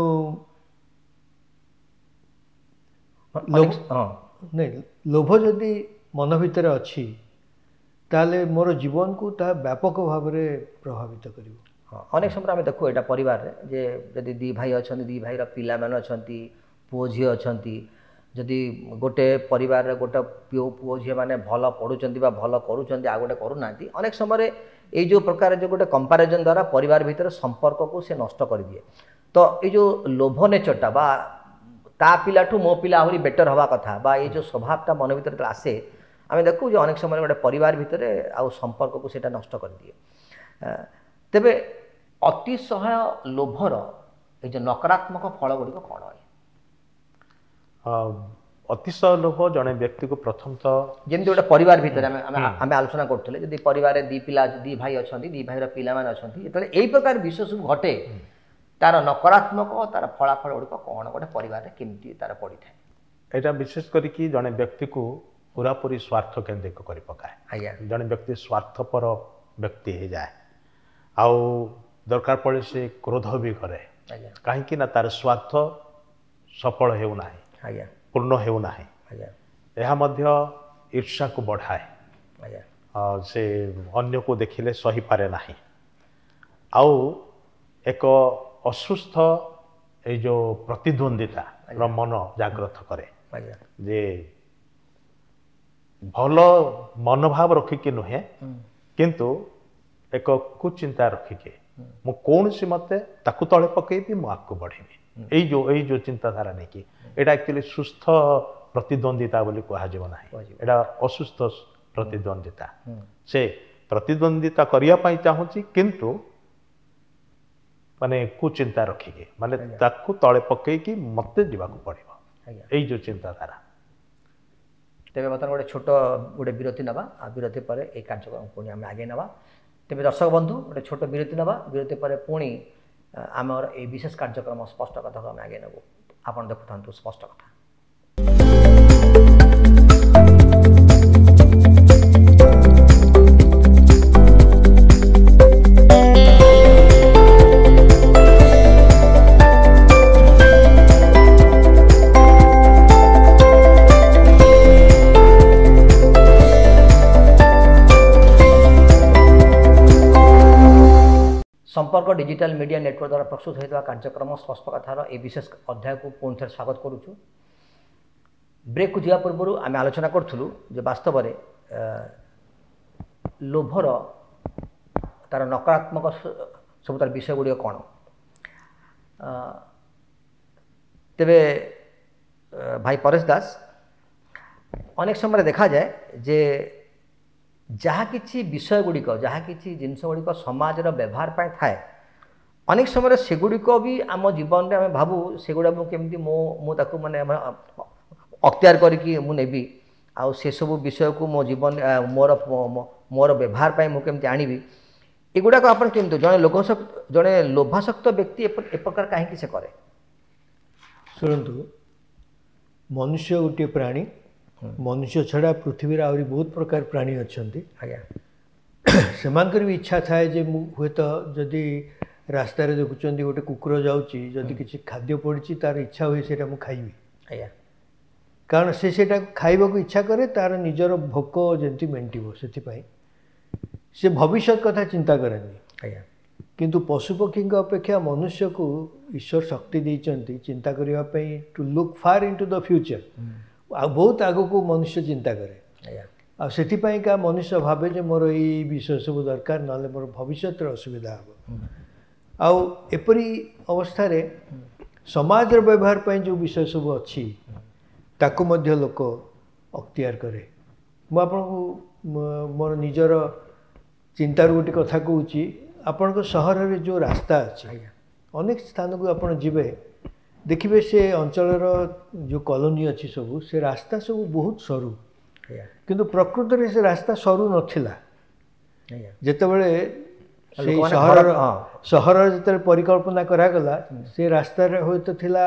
ନାଇଁ, ଲୋଭ ଯଦି ମନ ଭିତରେ ଅଛି ତାହେଲେ ମୋର ଜୀବନକୁ ତାହା ବ୍ୟାପକ ଭାବରେ ପ୍ରଭାବିତ କରିବ। ହଁ, ଅନେକ ସମୟରେ ଆମେ ଦେଖୁ ଏଇଟା ପରିବାରରେ ଯେ ଯଦି ଦୁଇ ଭାଇ ଅଛନ୍ତି, ଦୁଇ ଭାଇର ପିଲାମାନେ ଅଛନ୍ତି, ପୁଅ ଝିଅ ଅଛନ୍ତି, ଯଦି ଗୋଟେ ପରିବାରରେ ଗୋଟେ ପୁଅ ଝିଅମାନେ ଭଲ ପଢ଼ୁଛନ୍ତି ବା ଭଲ କରୁଛନ୍ତି ଆଉ ଗୋଟେ କରୁନାହାନ୍ତି, ଅନେକ ସମୟରେ ଏଇ ଯେଉଁ ପ୍ରକାର ଯେଉଁ ଗୋଟେ କମ୍ପାରିଜନ୍ ଦ୍ୱାରା ପରିବାର ଭିତରେ ସମ୍ପର୍କକୁ ସେ ନଷ୍ଟ କରିଦିଏ। ତ ଏଇ ଯେଉଁ ଲୋଭ ନେଚରଟା ବା ତା ପିଲାଠୁ ମୋ ପିଲା ଆହୁରି ବେଟର୍ ହେବା କଥା ବା ଏଇ ଯେଉଁ ସ୍ୱଭାବଟା ମନ ଭିତରେ ଯେତେବେଳେ ଆସେ, ଆମେ ଦେଖୁ ଯେ ଅନେକ ସମୟରେ ଗୋଟେ ପରିବାର ଭିତରେ ଆଉ ସମ୍ପର୍କକୁ ସେଇଟା ନଷ୍ଟ କରିଦିଏ। ତେବେ ଅତିଶୟ ଲୋଭର ଏଇ ଯେଉଁ ନକାରାତ୍ମକ ଫଳ ଗୁଡ଼ିକ କ'ଣ? ଅତିଶୟ ଲୋଭ ଜଣେ ବ୍ୟକ୍ତିକୁ ପ୍ରଥମତଃ ଯେମିତି ଗୋଟେ ପରିବାର ଭିତରେ ଆମେ ଆଲୋଚନା କରୁଥିଲେ, ଯଦି ପରିବାରରେ ଦୁଇ ପିଲା ଦୁଇ ଭାଇ ଅଛନ୍ତି, ଦୁଇ ଭାଇର ପିଲାମାନେ ଅଛନ୍ତି, ଯେତେବେଳେ ଏଇ ପ୍ରକାର ବିଷୟ ସବୁ ଘଟେ ତାର ନକାରାତ୍ମକ ତାର ଫଳାଫଳ ଗୁଡ଼ିକ କ'ଣ ଗୋଟେ ପରିବାରରେ କେମିତି ତାର ପଡ଼ିଥାଏ? ଏଇଟା ବିଶେଷ କରିକି ଜଣେ ବ୍ୟକ୍ତିକୁ ପୁରାପୁରି ସ୍ୱାର୍ଥ କେନ୍ଦ୍ରିକ କରି ପକାଏ। ଆଜ୍ଞା, ଜଣେ ବ୍ୟକ୍ତି ସ୍ୱାର୍ଥପର ବ୍ୟକ୍ତି ହେଇଯାଏ, ଆଉ ଦରକାର ପଡ଼େ ସେ କ୍ରୋଧ ବି କରେ। କାହିଁକି ନା ତାର ସ୍ୱାର୍ଥ ସଫଳ ହେଉନାହିଁ, ଆଜ୍ଞା, ପୂର୍ଣ୍ଣ ହେଉନାହିଁ। ଆଜ୍ଞା, ଏହା ମଧ୍ୟ ଈର୍ଷାକୁ ବଢ଼ାଏ। ଆଜ୍ଞା, ସେ ଅନ୍ୟକୁ ଦେଖିଲେ ସହିପାରେ ନାହିଁ, ଆଉ ଏକ ଅସୁସ୍ଥ ଏଇ ଯେଉଁ ପ୍ରତିଦ୍ୱନ୍ଦିତାର ମନ ଜାଗ୍ରତ କରେ, ଯେ ଭଲ ମନୋଭାବ ରଖିକି ନୁହେଁ, କିନ୍ତୁ ଏକ କୁଚିନ୍ତା ରଖିକି ମୁଁ କୌଣସି ମତେ ତାକୁ ତଳେ ପକେଇବି, ମୁଁ ଆଗକୁ ବଢ଼ିବି, ଏଇ ଯେଉଁ ଚିନ୍ତାଧାରା ନେଇକି, ଏଇଟା ଆକ୍ଚୁଆଲି ସୁସ୍ଥ ପ୍ରତିଦ୍ୱନ୍ଦିତା ବୋଲି କୁହାଯିବ ନାହିଁ, ଏଇଟା ଅସୁସ୍ଥ ପ୍ରତିଦ୍ୱନ୍ଦିତା। ସେ ପ୍ରତିଦ୍ୱନ୍ଦିତା କରିବା ପାଇଁ ଚାହୁଁଛି, କିନ୍ତୁ ମାନେ କୁଚିନ୍ତା ରଖିକି, ମାନେ ତାକୁ ତଳେ ପକେଇକି ମୋତେ ଯିବାକୁ ପଡ଼ିବ, ଏଇ ଯେଉଁ ଚିନ୍ତାଧାରା। ତେବେ ବର୍ତ୍ତମାନ ଗୋଟେ ଛୋଟ ଗୋଟେ ବିରତି ନେବା, ଆଉ ବିରତି ପରେ ଏଇ କାର୍ଯ୍ୟକ୍ରମ ପୁଣି ଆମେ ଆଗେଇ ନେବା। ତେବେ ଦର୍ଶକ ବନ୍ଧୁ, ଗୋଟେ ଛୋଟ ବିରତି ନେବା, ବିରତି ପରେ ପୁଣି ଆମର ଏଇ ବିଶେଷ କାର୍ଯ୍ୟକ୍ରମ ସ୍ପଷ୍ଟ କଥାକୁ ଆମେ ଆଗେଇ ନେବୁ। ଆପଣ ଦେଖୁଥାନ୍ତୁ ସ୍ପଷ୍ଟ କଥା। ସମ୍ପର୍କ ଡିଜିଟାଲ ମିଡ଼ିଆ ନେଟୱାର୍କ ଦ୍ୱାରା ପ୍ରସ୍ତୁତ ହୋଇଥିବା କାର୍ଯ୍ୟକ୍ରମ ସ୍ପଷ୍ଟ କଥାର ଏହି ବିଶେଷ ଅଧ୍ୟାୟକୁ ପୁଣି ଥରେ ସ୍ୱାଗତ କରୁଛୁ। ବ୍ରେକ୍କୁ ଯିବା ପୂର୍ବରୁ ଆମେ ଆଲୋଚନା କରୁଥିଲୁ ଯେ ବାସ୍ତବରେ ଲୋଭର ତାର ନକାରାତ୍ମକ ସବୁ ତାର ବିଷୟ ଗୁଡ଼ିକ କ'ଣ। ତେବେ ଭାଇ ପରେଶ ଦାସ, ଅନେକ ସମୟରେ ଦେଖାଯାଏ ଯେ ଯାହା କିଛି ବିଷୟ ଗୁଡ଼ିକ, ଯାହା କିଛି ଜିନିଷ ଗୁଡ଼ିକ ସମାଜର ବ୍ୟବହାର ପାଇଁ ଥାଏ, ଅନେକ ସମୟରେ ସେଗୁଡ଼ିକ ବି ଆମ ଜୀବନରେ ଆମେ ଭାବୁ ସେଗୁଡ଼ା ମୁଁ କେମିତି ମୁଁ ତାକୁ ମାନେ ଅକ୍ତିଆର କରିକି ମୁଁ ନେବି, ଆଉ ସେସବୁ ବିଷୟକୁ ମୋ ଜୀବନ ମୋର ମୋର ବ୍ୟବହାର ପାଇଁ ମୁଁ କେମିତି ଆଣିବି, ଏଗୁଡ଼ାକ ଆପଣ କେମିତି ଜଣେ ଜଣେ ଲୋଭାସକ୍ତ ବ୍ୟକ୍ତି ଏ ପ୍ରକାର କାହିଁକି ସେ କରେ? ଶୁଣନ୍ତୁ, ମନୁଷ୍ୟ ଗୋଟିଏ ପ୍ରାଣୀ। ମନୁଷ୍ୟ ଛଡ଼ା ପୃଥିବୀରେ ଆହୁରି ବହୁତ ପ୍ରକାର ପ୍ରାଣୀ ଅଛନ୍ତି। ଆଜ୍ଞା, ସେମାନଙ୍କର ବି ଇଚ୍ଛା ଥାଏ ଯେ ମୁଁ ହୁଏତ ଯଦି ରାସ୍ତାରେ ଦେଖୁଛନ୍ତି ଗୋଟେ କୁକୁର ଯାଉଛି, ଯଦି କିଛି ଖାଦ୍ୟ ପଡ଼ିଛି, ତାର ଇଚ୍ଛା ହୁଏ ସେଇଟା ମୁଁ ଖାଇବି। ଆଜ୍ଞା, କାରଣ ସେ ସେଇଟା ଖାଇବାକୁ ଇଚ୍ଛା କରେ, ତାର ନିଜର ଭୋକ ଯେମିତି ମେଣ୍ଟିବ, ସେଥିପାଇଁ ସେ ଭବିଷ୍ୟତ କଥା ଚିନ୍ତା କରେନି। ଆଜ୍ଞା, କିନ୍ତୁ ପଶୁପକ୍ଷୀଙ୍କ ଅପେକ୍ଷା ମନୁଷ୍ୟକୁ ଈଶ୍ୱର ଶକ୍ତି ଦେଇଛନ୍ତି ଚିନ୍ତା କରିବା ପାଇଁ, to look far into the future. ଆଉ ବହୁତ ଆଗକୁ ମନୁଷ୍ୟ ଚିନ୍ତା କରେ। ଆଉ ସେଥିପାଇଁକା ମନୁଷ୍ୟ ଭାବେ ଯେ ମୋର ଏଇ ବିଷୟ ସବୁ ଦରକାର, ନହେଲେ ମୋର ଭବିଷ୍ୟତରେ ଅସୁବିଧା ହେବ। ଆଉ ଏପରି ଅବସ୍ଥାରେ ସମାଜର ବ୍ୟବହାର ପାଇଁ ଯେଉଁ ବିଷୟ ସବୁ ଅଛି ତାକୁ ମଧ୍ୟ ଲୋକ ଅକ୍ତିଆର କରେ। ମୁଁ ଆପଣଙ୍କୁ ମୋର ନିଜର ଚିନ୍ତାରୁ ଗୋଟେ କଥା କହୁଛି। ଆପଣଙ୍କ ସହରରେ ଯେଉଁ ରାସ୍ତା ଅଛି, ଅନେକ ସ୍ଥାନକୁ ଆପଣ ଯିବେ, ଦେଖିବେ ସେ ଅଞ୍ଚଳର ଯେଉଁ କଲୋନୀ ଅଛି ସବୁ, ସେ ରାସ୍ତା ସବୁ ବହୁତ ସରୁ, କିନ୍ତୁ ପ୍ରକୃତରେ ସେ ରାସ୍ତା ସରୁ ନଥିଲା। ଯେତେବେଳେ ସେଇ ସହରର ଯେତେବେଳେ ପରିକଳ୍ପନା କରାଗଲା, ସେ ରାସ୍ତାରେ ହୁଏତ ଥିଲା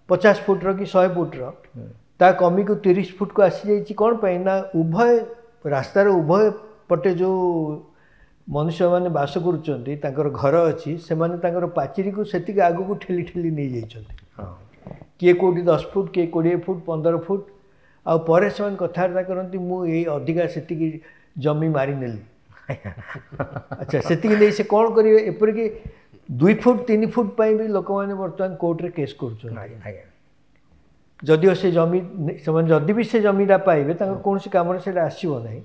50 ଫୁଟର କି 100 ଫୁଟର, ତା କମିକୁ 30 ଫୁଟକୁ ଆସିଯାଇଛି। କ'ଣ ପାଇଁ ନା ଉଭୟ ରାସ୍ତାର ଉଭୟ ପଟେ ଯେଉଁ ମନୁଷ୍ୟମାନେ ବାସ କରୁଛନ୍ତି, ତାଙ୍କର ଘର ଅଛି, ସେମାନେ ତାଙ୍କର ପାଚେରୀକୁ ସେତିକି ଆଗକୁ ଠେଲି ଠେଲି ନେଇଯାଇଛନ୍ତି। କିଏ କେଉଁଠି 10 ଫୁଟ, କିଏ 20 ଫୁଟ, 15 ଫୁଟ। ଆଉ ପରେ ସେମାନେ କଥାବାର୍ତ୍ତା କରନ୍ତି, ମୁଁ ଏଇ ଅଧିକା ସେତିକି ଜମି ମାରିନେଲି। ଆଚ୍ଛା, ସେତିକି ନେଇ ସେ କ'ଣ କରିବେ? ଏପରିକି 2 ଫୁଟ 3 ଫୁଟ ପାଇଁ ବି ଲୋକମାନେ ବର୍ତ୍ତମାନ କୋର୍ଟରେ କେସ୍ କରୁଛନ୍ତି। ଯଦିଓ ସେ ଜମି ସେମାନେ ଯଦି ବି ସେ ଜମିଟା ପାଇବେ, ତାଙ୍କର କୌଣସି କାମରେ ସେଇଟା ଆସିବ ନାହିଁ,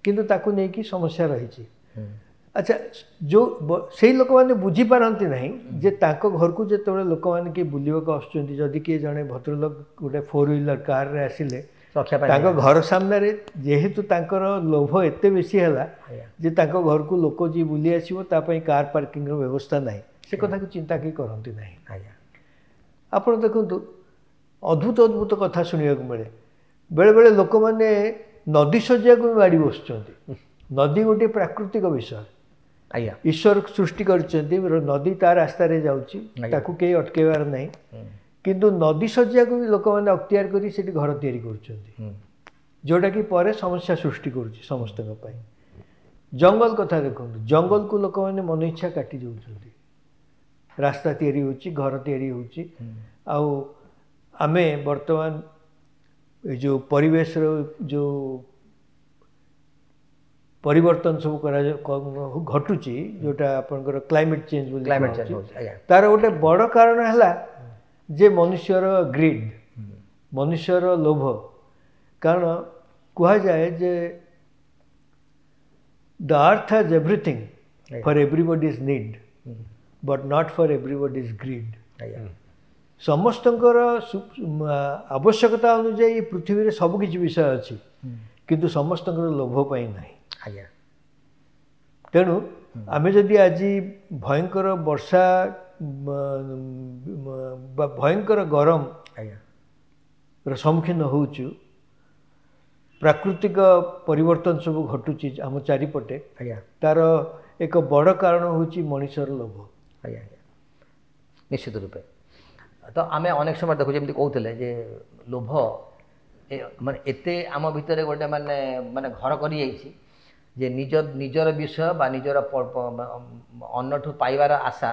କିନ୍ତୁ ତାକୁ ନେଇକି ସମସ୍ୟା ରହିଛି। ଆଚ୍ଛା, ଯେଉଁ ସେଇ ଲୋକମାନେ ବୁଝିପାରନ୍ତି ନାହିଁ ଯେ ତାଙ୍କ ଘରକୁ ଯେତେବେଳେ ଲୋକମାନେ କିଏ ବୁଲିବାକୁ ଆସୁଛନ୍ତି, ଯଦି କିଏ ଜଣେ ଭଦ୍ରଲୋକ ଗୋଟେ 4 ହ୍ୱିଲର କାରରେ ଆସିଲେ, ତାଙ୍କ ଘର ସାମ୍ନାରେ ଯେହେତୁ ତାଙ୍କର ଲୋଭ ଏତେ ବେଶୀ ହେଲା ଯେ ତାଙ୍କ ଘରକୁ ଲୋକ ଯିଏ ବୁଲି ଆସିବ ତା ପାଇଁ କାର୍ ପାର୍କିଂର ବ୍ୟବସ୍ଥା ନାହିଁ, ସେ କଥାକୁ ଚିନ୍ତା କେହି କରନ୍ତି ନାହିଁ। ଆଜ୍ଞା, ଆପଣ ଦେଖନ୍ତୁ, ଅଦ୍ଭୁତ ଅଦ୍ଭୁତ କଥା ଶୁଣିବାକୁ ମିଳେ। ବେଳେବେଳେ ଲୋକମାନେ ନଦୀ ଶଯ୍ୟାକୁ ବି ମାଡ଼ି ବସୁଛନ୍ତି। ନଦୀ ଗୋଟିଏ ପ୍ରାକୃତିକ ବିଷୟ, ଆଜ୍ଞା, ଈଶ୍ୱର ସୃଷ୍ଟି କରିଛନ୍ତି, ନଦୀ ତା ରାସ୍ତାରେ ଯାଉଛି, ତାକୁ କେହି ଅଟକେଇବାର ନାହିଁ। କିନ୍ତୁ ନଦୀ ଶଯ୍ୟାକୁ ବି ଲୋକମାନେ ଅକ୍ତିଆର କରି ସେଠି ଘର ତିଆରି କରୁଛନ୍ତି, ଯେଉଁଟାକି ପରେ ସମସ୍ୟା ସୃଷ୍ଟି କରୁଛି ସମସ୍ତଙ୍କ ପାଇଁ। ଜଙ୍ଗଲ କଥା ଦେଖନ୍ତୁ, ଜଙ୍ଗଲକୁ ଲୋକମାନେ ମନ ଇଚ୍ଛା କାଟି ଦେଉଛନ୍ତି, ରାସ୍ତା ତିଆରି ହେଉଛି, ଘର ତିଆରି ହେଉଛି। ଆଉ ଆମେ ବର୍ତ୍ତମାନ ଏ ଯେଉଁ ପରିବେଶର ଯେଉଁ ପରିବର୍ତ୍ତନ ସବୁ ଘଟୁଛି, ଯେଉଁଟା ଆପଣଙ୍କର କ୍ଲାଇମେଟ୍ ଚେଞ୍ଜ ବୋଲି, ତାର ଗୋଟେ ବଡ଼ କାରଣ ହେଲା ଯେ ମନୁଷ୍ୟର ଗ୍ରିଡ୍, ମନୁଷ୍ୟର ଲୋଭ। କାରଣ କୁହାଯାଏ ଯେ the earth has everything for everybody's need, but not for everybody's greed. ସମସ୍ତଙ୍କର ଆବଶ୍ୟକତା ଅନୁଯାୟୀ ପୃଥିବୀରେ ସବୁକିଛି ବିଷୟ ଅଛି, କିନ୍ତୁ ସମସ୍ତଙ୍କର ଲୋଭ ପାଇଁ ନାହିଁ। ଆଜ୍ଞା। ତେଣୁ ଆମେ ଯଦି ଆଜି ଭୟଙ୍କର ବର୍ଷା ବା ଭୟଙ୍କର ଗରମ ଆଜ୍ଞା ର ସମ୍ମୁଖୀନ ହେଉଛୁ, ପ୍ରାକୃତିକ ପରିବର୍ତ୍ତନ ସବୁ ଘଟୁଛି ଆମ ଚାରିପଟେ, ଆଜ୍ଞା ତାର ଏକ ବଡ଼ କାରଣ ହେଉଛି ମଣିଷର ଲୋଭ। ଆଜ୍ଞା ଆଜ୍ଞା, ନିଶ୍ଚିତ ରୂପେ। ତ ଆମେ ଅନେକ ସମୟ ଦେଖୁ, ଯେମିତି କହୁଥିଲେ ଯେ ଲୋଭ ମାନେ ଏତେ ଆମ ଭିତରେ ଗୋଟେ ମାନେ ମାନେ ଘର କରିଯାଇଛି ଯେ ନିଜର ବିଷୟ ବା ନିଜର ଅନ୍ୟଠୁ ପାଇବାର ଆଶା,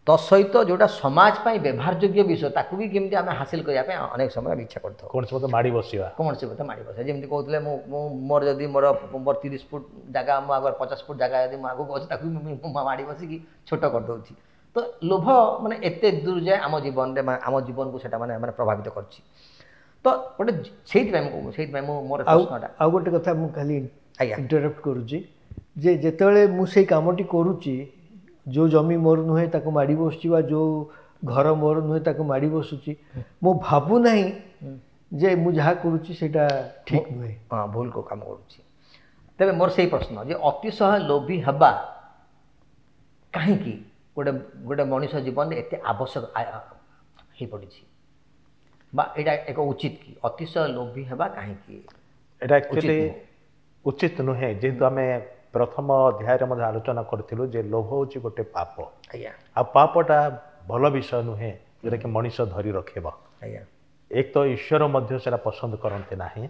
ତ ସହିତ ଯେଉଁଟା ସମାଜ ପାଇଁ ବ୍ୟବହାରଯୋଗ୍ୟ ବିଷୟ ତାକୁ ବି କେମିତି ଆମେ ହାସିଲ କରିବା ପାଇଁ ଅନେକ ସମୟ ଆମେ ଇଚ୍ଛା କରିଥାଉ। କୌଣସି ମତେ ମାଡ଼ି ବସିବା, କୌଣସି ମତେ ମାଡ଼ି ବସିବା। ଯେମିତି କହୁଥିଲେ, ମୁଁ ମୁଁ ମୋର ଯଦି ମୋର ମୋର 30 ଫୁଟ ଜାଗା, ମୁଁ ଆଗରେ 50 ଫୁଟ ଜାଗା ଯଦି ମୁଁ ଆଗକୁ ଅଛି, ତାକୁ ବି ମୁଁ ମାଡ଼ି ବସିକି ଛୋଟ କରିଦେଉଛି। ତ ଲୋଭ ମାନେ ଏତେ ଦୂର ଯାଏ ଆମ ଜୀବନରେ, ଆମ ଜୀବନକୁ ସେଇଟା ମାନେ ମାନେ ପ୍ରଭାବିତ କରିଛି। ତ ଗୋଟେ ସେଇଥିପାଇଁ ମୁଁ ସେଇଥିପାଇଁ ମୁଁ ମୋର ପ୍ରଶ୍ନଟା ଆଉ ଗୋଟେ କଥା ମୁଁ ଖାଲି ଆଜ୍ଞା ଇଣ୍ଟରପ୍ଟ କରୁଛି ଯେ ଯେତେବେଳେ ମୁଁ ସେଇ କାମଟି କରୁଛି, ଯେଉଁ ଜମି ମୋର ନୁହେଁ ତାକୁ ମାଡ଼ି ବସୁଛି ବା ଯେଉଁ ଘର ମୋର ନୁହେଁ ତାକୁ ମାଡ଼ି ବସୁଛି, ମୁଁ ଭାବୁନାହିଁ ଯେ ମୁଁ ଯାହା କରୁଛି ସେଇଟା ଠିକ୍ ନୁହେଁ, ହଁ ଭୁଲ କାମ କରୁଛି। ତେବେ ମୋର ସେଇ ପ୍ରଶ୍ନ ଯେ ଅତିଶୟ ଲୋଭୀ ହେବା କାହିଁକି ଗୋଟେ ଗୋଟେ ମଣିଷ ଜୀବନରେ ଏତେ ଆବଶ୍ୟକ ହେଇପଡ଼ିଛି, ବା ଏଇଟା ଏକ ଉଚିତ କି? ଅତିଶୟ ଲୋଭୀ ହେବା କାହିଁକି ଏଇଟା ଆକ୍ଚୁଆଲି ଉଚିତ ନୁହେଁ? ଯେହେତୁ ଆମେ ପ୍ରଥମ ଅଧ୍ୟାୟରେ ମଧ୍ୟ ଆଲୋଚନା କରିଥିଲୁ ଯେ ଲୋଭ ହେଉଛି ଗୋଟେ ପାପ। ଆଜ୍ଞା। ଆଉ ପାପଟା ଭଲ ବିଷୟ ନୁହେଁ ଯେଉଁଟାକି ମଣିଷ ଧରି ରଖିବ। ଆଜ୍ଞା। ଏକ ତ ଈଶ୍ୱର ମଧ୍ୟ ସେଇଟା ପସନ୍ଦ କରନ୍ତି ନାହିଁ,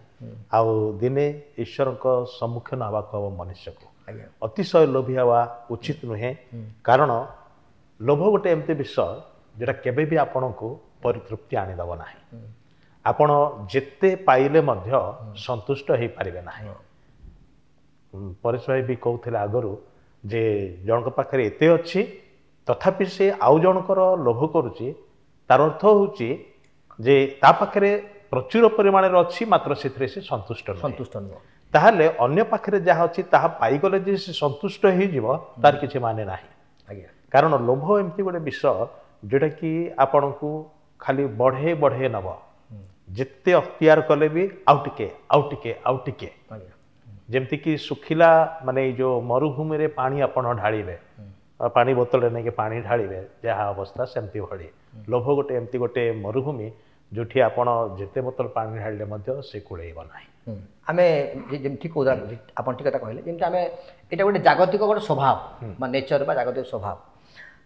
ଆଉ ଦିନେ ଈଶ୍ୱରଙ୍କ ସମ୍ମୁଖୀନ ହେବାକୁ ହେବ ମନୁଷ୍ୟକୁ। ଆଜ୍ଞା। ଅତିଶୟ ଲୋଭୀ ହେବା ଉଚିତ ନୁହେଁ, କାରଣ ଲୋଭ ଗୋଟେ ଏମିତି ବିଷୟ ଯେଉଁଟା କେବେ ବି ଆପଣଙ୍କୁ ପରିତୃପ୍ତି ଆଣିଦେବ ନାହିଁ। ଆପଣ ଯେତେ ପାଇଲେ ମଧ୍ୟ ସନ୍ତୁଷ୍ଟ ହେଇପାରିବେ ନାହିଁ। ପରେଶ ଭାଇ ବି କହୁଥିଲେ ଆଗରୁ ଯେ ଜଣଙ୍କ ପାଖରେ ଏତେ ଅଛି ତଥାପି ସେ ଆଉ ଜଣଙ୍କର ଲୋଭ କରୁଛି, ତାର ଅର୍ଥ ହେଉଛି ଯେ ତା ପାଖରେ ପ୍ରଚୁର ପରିମାଣରେ ଅଛି, ମାତ୍ର ସେଥିରେ ସେ ସନ୍ତୁଷ୍ଟ ସନ୍ତୁଷ୍ଟ ନୁହଁ। ତାହେଲେ ଅନ୍ୟ ପାଖରେ ଯାହା ଅଛି ତାହା ପାଇଗଲେ ଯେ ସେ ସନ୍ତୁଷ୍ଟ ହେଇଯିବ ତାର କିଛି ମାନେ ନାହିଁ। ଆଜ୍ଞା। କାରଣ ଲୋଭ ଏମିତି ଗୋଟେ ବିଷୟ ଯେଉଁଟାକି ଆପଣଙ୍କୁ ଖାଲି ବଢ଼େଇ ବଢ଼େଇ ନେବ, ଯେତେ ଅକ୍ତିଆର କଲେ ବି ଆଉ ଟିକେ ଆଉ ଟିକେ ଆଉ ଟିକେ। ଆଜ୍ଞା। ଯେମିତିକି ଶୁଖିଲା ମାନେ ଏଇ ଯେଉଁ ମରୁଭୂମିରେ ପାଣି ଆପଣ ଢାଳିବେ, ପାଣି ବୋତଲରେ ନେଇକି ପାଣି ଢାଳିବେ, ଯାହା ଅବସ୍ଥା ସେମିତି ଭଳି। ଲୋଭ ଗୋଟେ ଏମିତି ଗୋଟେ ମରୁଭୂମି ଯେଉଁଠି ଆପଣ ଯେତେ ବୋତଲ ପାଣି ଢାଳିଲେ ମଧ୍ୟ ସେ କୁଳେଇବ ନାହିଁ। ଆମେ ଯେମିତି ଠିକ୍ କହୁଥିଲା, ଆପଣ ଠିକ୍ କଥା କହିଲେ, ଯେମିତି ଆମେ ଏଇଟା ଗୋଟେ ଜାଗତିକ ଗୋଟେ ସ୍ୱଭାବ ବା ନେଚର ବା ଜାଗତିକ ସ୍ୱଭାବ।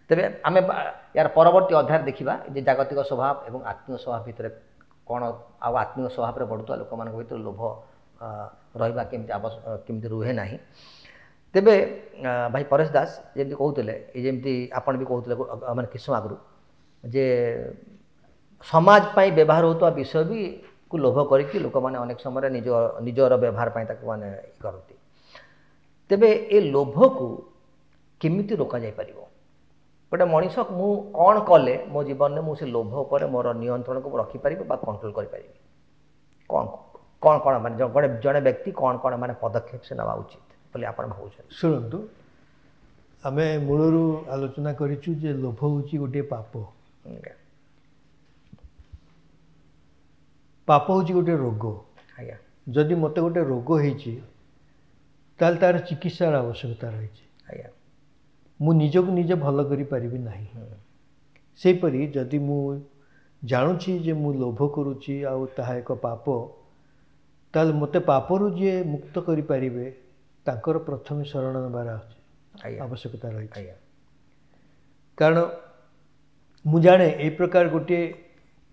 ତେବେ ଆମେ ୟାର ପରବର୍ତ୍ତୀ ଅଧ୍ୟାୟରେ ଦେଖିବା ଯେ ଜାଗତିକ ସ୍ୱଭାବ ଏବଂ ଆତ୍ମୀୟ ସ୍ୱଭାବ ଭିତରେ କ'ଣ, ଆଉ ଆତ୍ମୀୟ ସ୍ୱଭାବରେ ବଢ଼ୁଥିବା ଲୋକମାନଙ୍କ ଭିତରେ ଲୋଭ ରହିବା କେମିତି ଆବଶ୍ୟକ, କେମିତି ରୁହେ ନାହିଁ। ତେବେ ଭାଇ ପରେଶ ଦାସ ଯେମିତି କହୁଥିଲେ, ଏ ଯେମିତି ଆପଣ ବି କହୁଥିଲେ ମାନେ କିଛି ସମୟ ଆଗରୁ ଯେ ସମାଜ ପାଇଁ ବ୍ୟବହାର ହେଉଥିବା ବିଷୟ ବି କୁ ଲୋଭ କରିକି ଲୋକମାନେ ଅନେକ ସମୟରେ ନିଜର ବ୍ୟବହାର ପାଇଁ ତାକୁ ମାନେ କରନ୍ତି। ତେବେ ଏ ଲୋଭକୁ କେମିତି ରୋକାଯାଇପାରିବ? ଗୋଟେ ମଣିଷ ମୁଁ କ'ଣ କଲେ ମୋ ଜୀବନରେ ମୁଁ ସେ ଲୋଭ ଉପରେ ମୋର ନିୟନ୍ତ୍ରଣକୁ ମୁଁ ରଖିପାରିବି ବା କଣ୍ଟ୍ରୋଲ କରିପାରିବି? କ'ଣ କ'ଣ କ'ଣ ମାନେ ଗୋଟେ ଜଣେ ବ୍ୟକ୍ତି କ'ଣ କ'ଣ ମାନେ ପଦକ୍ଷେପ ସେ ନେବା ଉଚିତ ବୋଲି ଆପଣ ଭାବୁଛନ୍ତି? ଶୁଣନ୍ତୁ, ଆମେ ମୂଳରୁ ଆଲୋଚନା କରିଛୁ ଯେ ଲୋଭ ହେଉଛି ଗୋଟିଏ ପାପ। ପାପ ହେଉଛି ଗୋଟିଏ ରୋଗ। ଆଜ୍ଞା। ଯଦି ମୋତେ ଗୋଟେ ରୋଗ ହେଇଛି ତାହେଲେ ତାର ଚିକିତ୍ସାର ଆବଶ୍ୟକତା ରହିଛି। ଆଜ୍ଞା। ମୁଁ ନିଜକୁ ନିଜେ ଭଲ କରିପାରିବି ନାହିଁ। ସେହିପରି ଯଦି ମୁଁ ଜାଣୁଛି ଯେ ମୁଁ ଲୋଭ କରୁଛି ଆଉ ତାହା ଏକ ପାପ, ତାହେଲେ ମୋତେ ପାପରୁ ଯିଏ ମୁକ୍ତ କରିପାରିବେ ତାଙ୍କର ପ୍ରଥମେ ଶରଣ ନେବାର ଆବଶ୍ୟକତା ରହିଛି। କାରଣ ମୁଁ ଜାଣେ ଏଇ ପ୍ରକାର ଗୋଟିଏ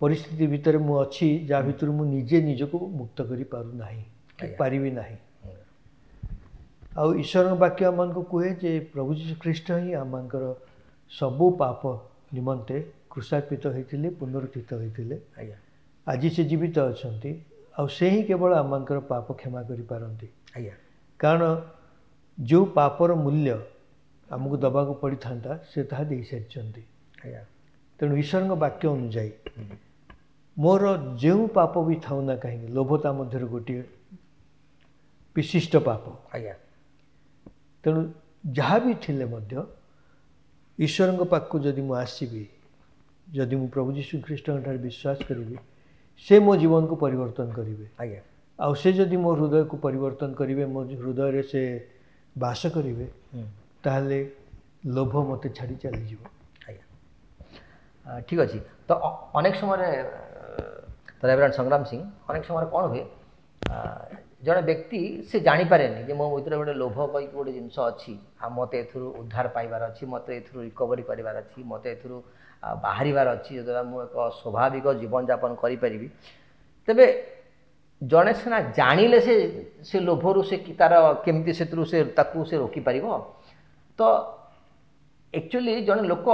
ପରିସ୍ଥିତି ଭିତରେ ମୁଁ ଅଛି ଯାହା ଭିତରୁ ମୁଁ ନିଜେ ନିଜକୁ ମୁକ୍ତ କରିପାରୁନାହିଁ କି ପାରିବି ନାହିଁ। ଆଉ ଈଶ୍ୱରଙ୍କ ବାକ୍ୟ ଆମମାନଙ୍କୁ କୁହେ ଯେ ପ୍ରଭୁ ଯୀଶୁ ଖ୍ରୀଷ୍ଟ ହିଁ ଆମମାନଙ୍କର ସବୁ ପାପ ନିମନ୍ତେ କ୍ରୁଶାର୍ପିତ ହୋଇଥିଲେ, ପୁନରୁତ୍ଥିତ ହୋଇଥିଲେ। ଆଜି ସେ ଜୀବିତ ଅଛନ୍ତି ଆଉ ସେ ହିଁ କେବଳ ଆମମାନଙ୍କର ପାପ କ୍ଷମା କରିପାରନ୍ତି। ଆଜ୍ଞା। କାରଣ ଯେଉଁ ପାପର ମୂଲ୍ୟ ଆମକୁ ଦେବାକୁ ପଡ଼ିଥାନ୍ତା ସେ ତାହା ଦେଇସାରିଛନ୍ତି। ଆଜ୍ଞା। ତେଣୁ ଈଶ୍ୱରଙ୍କ ବାକ୍ୟ ଅନୁଯାୟୀ ମୋର ଯେଉଁ ପାପ ବି ଥାଉ ନା କାହିଁକି, ଲୋଭ ତା ମଧ୍ୟରୁ ଗୋଟିଏ ବିଶିଷ୍ଟ ପାପ। ଆଜ୍ଞା। ତେଣୁ ଯାହା ବି ଥିଲେ ମଧ୍ୟ ଈଶ୍ୱରଙ୍କ ପାଖକୁ ଯଦି ମୁଁ ଆସିବି, ଯଦି ମୁଁ ପ୍ରଭୁ ଯୀଶୁ ଖ୍ରୀଷ୍ଟଙ୍କ ଠାରେ ବିଶ୍ୱାସ କରିବି, ସେ ମୋ ଜୀବନକୁ ପରିବର୍ତ୍ତନ କରିବେ। ଆଜ୍ଞା। ଆଉ ସେ ଯଦି ମୋ ହୃଦୟକୁ ପରିବର୍ତ୍ତନ କରିବେ, ମୋ ହୃଦୟରେ ସେ ବାସ କରିବେ, ତାହେଲେ ଲୋଭ ମୋତେ ଛାଡ଼ି ଚାଲିଯିବ। ଆଜ୍ଞା, ଠିକ୍ ଅଛି। ତ ଅନେକ ସମୟରେ ରେଭରେଣ୍ଡ ସଂଗ୍ରାମ ସିଂ, ଅନେକ ସମୟରେ କ'ଣ ହୁଏ, ଜଣେ ବ୍ୟକ୍ତି ସେ ଜାଣିପାରେନି ଯେ ମୋ ଭିତରେ ଗୋଟେ ଲୋଭ କହିକି ଗୋଟେ ଜିନିଷ ଅଛି, ଆଉ ମୋତେ ଏଥିରୁ ଉଦ୍ଧାର ପାଇବାର ଅଛି, ମୋତେ ଏଥିରୁ ରିକଭରି କରିବାର ଅଛି, ମୋତେ ଏଥିରୁ ବାହାରିବାର ଅଛି, ଯଦ୍ୱାରା ମୁଁ ଏକ ସ୍ୱାଭାବିକ ଜୀବନଯାପନ କରିପାରିବି। ତେବେ ଜଣେ ସିନା ଜାଣିଲେ ସେ ଲୋଭରୁ ସେ ତାର କେମିତି ସେଥିରୁ ସେ ତାକୁ ସେ ରୋକିପାରିବ। ତ ଆକ୍ଚୁଆଲି ଜଣେ ଲୋକ,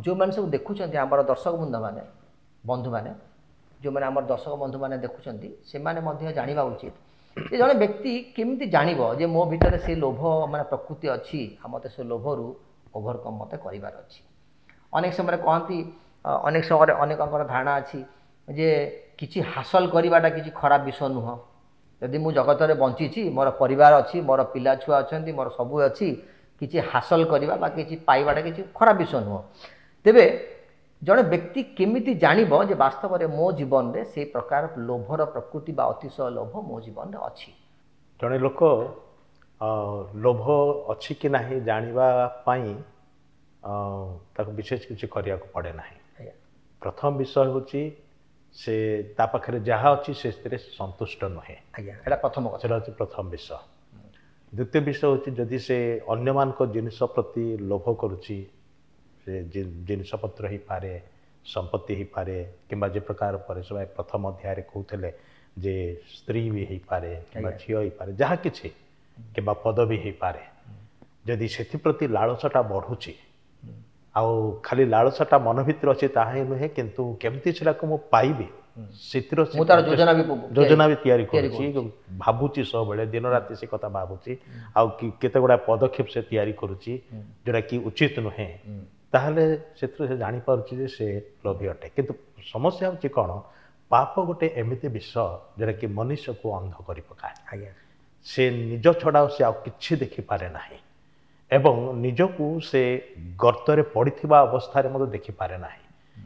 ଯେଉଁମାନେ ସବୁ ଦେଖୁଛନ୍ତି ଆମର ଦର୍ଶକ ବନ୍ଧୁମାନେ, ଯେଉଁମାନେ ଆମର ଦର୍ଶକ ବନ୍ଧୁମାନେ ଦେଖୁଛନ୍ତି, ସେମାନେ ମଧ୍ୟ ଜାଣିବା ଉଚିତ ଯେ ଜଣେ ବ୍ୟକ୍ତି କେମିତି ଜାଣିବ ଯେ ମୋ ଭିତରେ ସେ ଲୋଭ ମାନେ ପ୍ରକୃତି ଅଛି, ଆଉ ମୋତେ ସେ ଲୋଭରୁ ଓଭରକମ୍ ମୋତେ କରିବାର ଅଛି। ଅନେକ ସମୟରେ କହନ୍ତି, ଅନେକ ସମୟରେ ଅନେକଙ୍କର ଧାରଣା ଅଛି ଯେ କିଛି ହାସଲ କରିବାଟା କିଛି ଖରାପ ବିଷୟ ନୁହଁ। ଯଦି ମୁଁ ଜଗତରେ ବଞ୍ଚିଛି, ମୋର ପରିବାର ଅଛି, ମୋର ପିଲା ଛୁଆ ଅଛନ୍ତି, ମୋର ସବୁ ଅଛି, କିଛି ହାସଲ କରିବା ବା କିଛି ପାଇବାଟା କିଛି ଖରାପ ବିଷୟ ନୁହଁ। ତେବେ ଜଣେ ବ୍ୟକ୍ତି କେମିତି ଜାଣିବ ଯେ ବାସ୍ତବରେ ମୋ ଜୀବନରେ ସେଇ ପ୍ରକାର ଲୋଭର ପ୍ରକୃତି ବା ଅତିଶୟ ଲୋଭ ମୋ ଜୀବନରେ ଅଛି? ଜଣେ ଲୋକ ଲୋଭ ଅଛି କି ନାହିଁ ଜାଣିବା ପାଇଁ ତାକୁ ବିଶେଷ କିଛି କରିବାକୁ ପଡ଼େ ନାହିଁ। ପ୍ରଥମ ବିଷୟ ହେଉଛି ସେ ତା ପାଖରେ ଯାହା ଅଛି ସେଥିରେ ସନ୍ତୁଷ୍ଟ ନୁହେଁ। ଆଜ୍ଞା, ଏଇଟା ପ୍ରଥମ କଥା। ସେଟା ହେଉଛି ପ୍ରଥମ ବିଷୟ। ଦ୍ୱିତୀୟ ବିଷୟ ହେଉଛି ଯଦି ସେ ଅନ୍ୟମାନଙ୍କ ଜିନିଷ ପ୍ରତି ଲୋଭ କରୁଛି, ସେ ଜିନିଷପତ୍ର ହେଇପାରେ, ସମ୍ପତ୍ତି ହେଇପାରେ, କିମ୍ବା ଯେ ପ୍ରକାର ପରେଶ ଭାଇ ପ୍ରଥମ ଅଧ୍ୟାୟରେ କହୁଥିଲେ ଯେ ସ୍ତ୍ରୀ ବି ହେଇପାରେ କିମ୍ବା ଝିଅ ହେଇପାରେ, ଯାହା କିଛି, କିମ୍ବା ପଦବୀ ହେଇପାରେ, ଯଦି ସେଥିପ୍ରତି ଲାଳସାଟା ବଢ଼ୁଛି, ଆଉ ଖାଲି ଲାଳସାଟା ମନ ଭିତରେ ଅଛି ତାହା ହିଁ ନୁହେଁ, କିନ୍ତୁ କେମିତି ସେଟାକୁ ମୁଁ ପାଇବି ସେଥିର ଯୋଜନା ବି ତିଆରି କରୁଛି, ଭାବୁଛି ସବୁବେଳେ ଦିନ ରାତି ସେ କଥା ଭାବୁଛି, ଆଉ କେତେ ଗୁଡ଼ାଏ ପଦକ୍ଷେପ ସେ ତିଆରି କରୁଛି ଯେଉଁଟାକି ଉଚିତ ନୁହେଁ, ତାହେଲେ ସେଥିରୁ ସେ ଜାଣିପାରୁଛି ଯେ ସେ ଲୋଭୀ ଅଟେ। କିନ୍ତୁ ସମସ୍ୟା ହେଉଛି କ'ଣ, ପାପ ଗୋଟେ ଏମିତି ବିଷୟ ଯେଉଁଟାକି ମନୁଷ୍ୟକୁ ଅନ୍ଧ କରି ପକାଏ। ଆଜ୍ଞା। ସେ ନିଜ ଛଡ଼ା ସେ ଆଉ କିଛି ଦେଖିପାରେ ନାହିଁ, ଏବଂ ନିଜକୁ ସେ ଗର୍ତ୍ତରେ ପଡ଼ିଥିବା ଅବସ୍ଥାରେ ମଧ୍ୟ ଦେଖିପାରେ ନାହିଁ,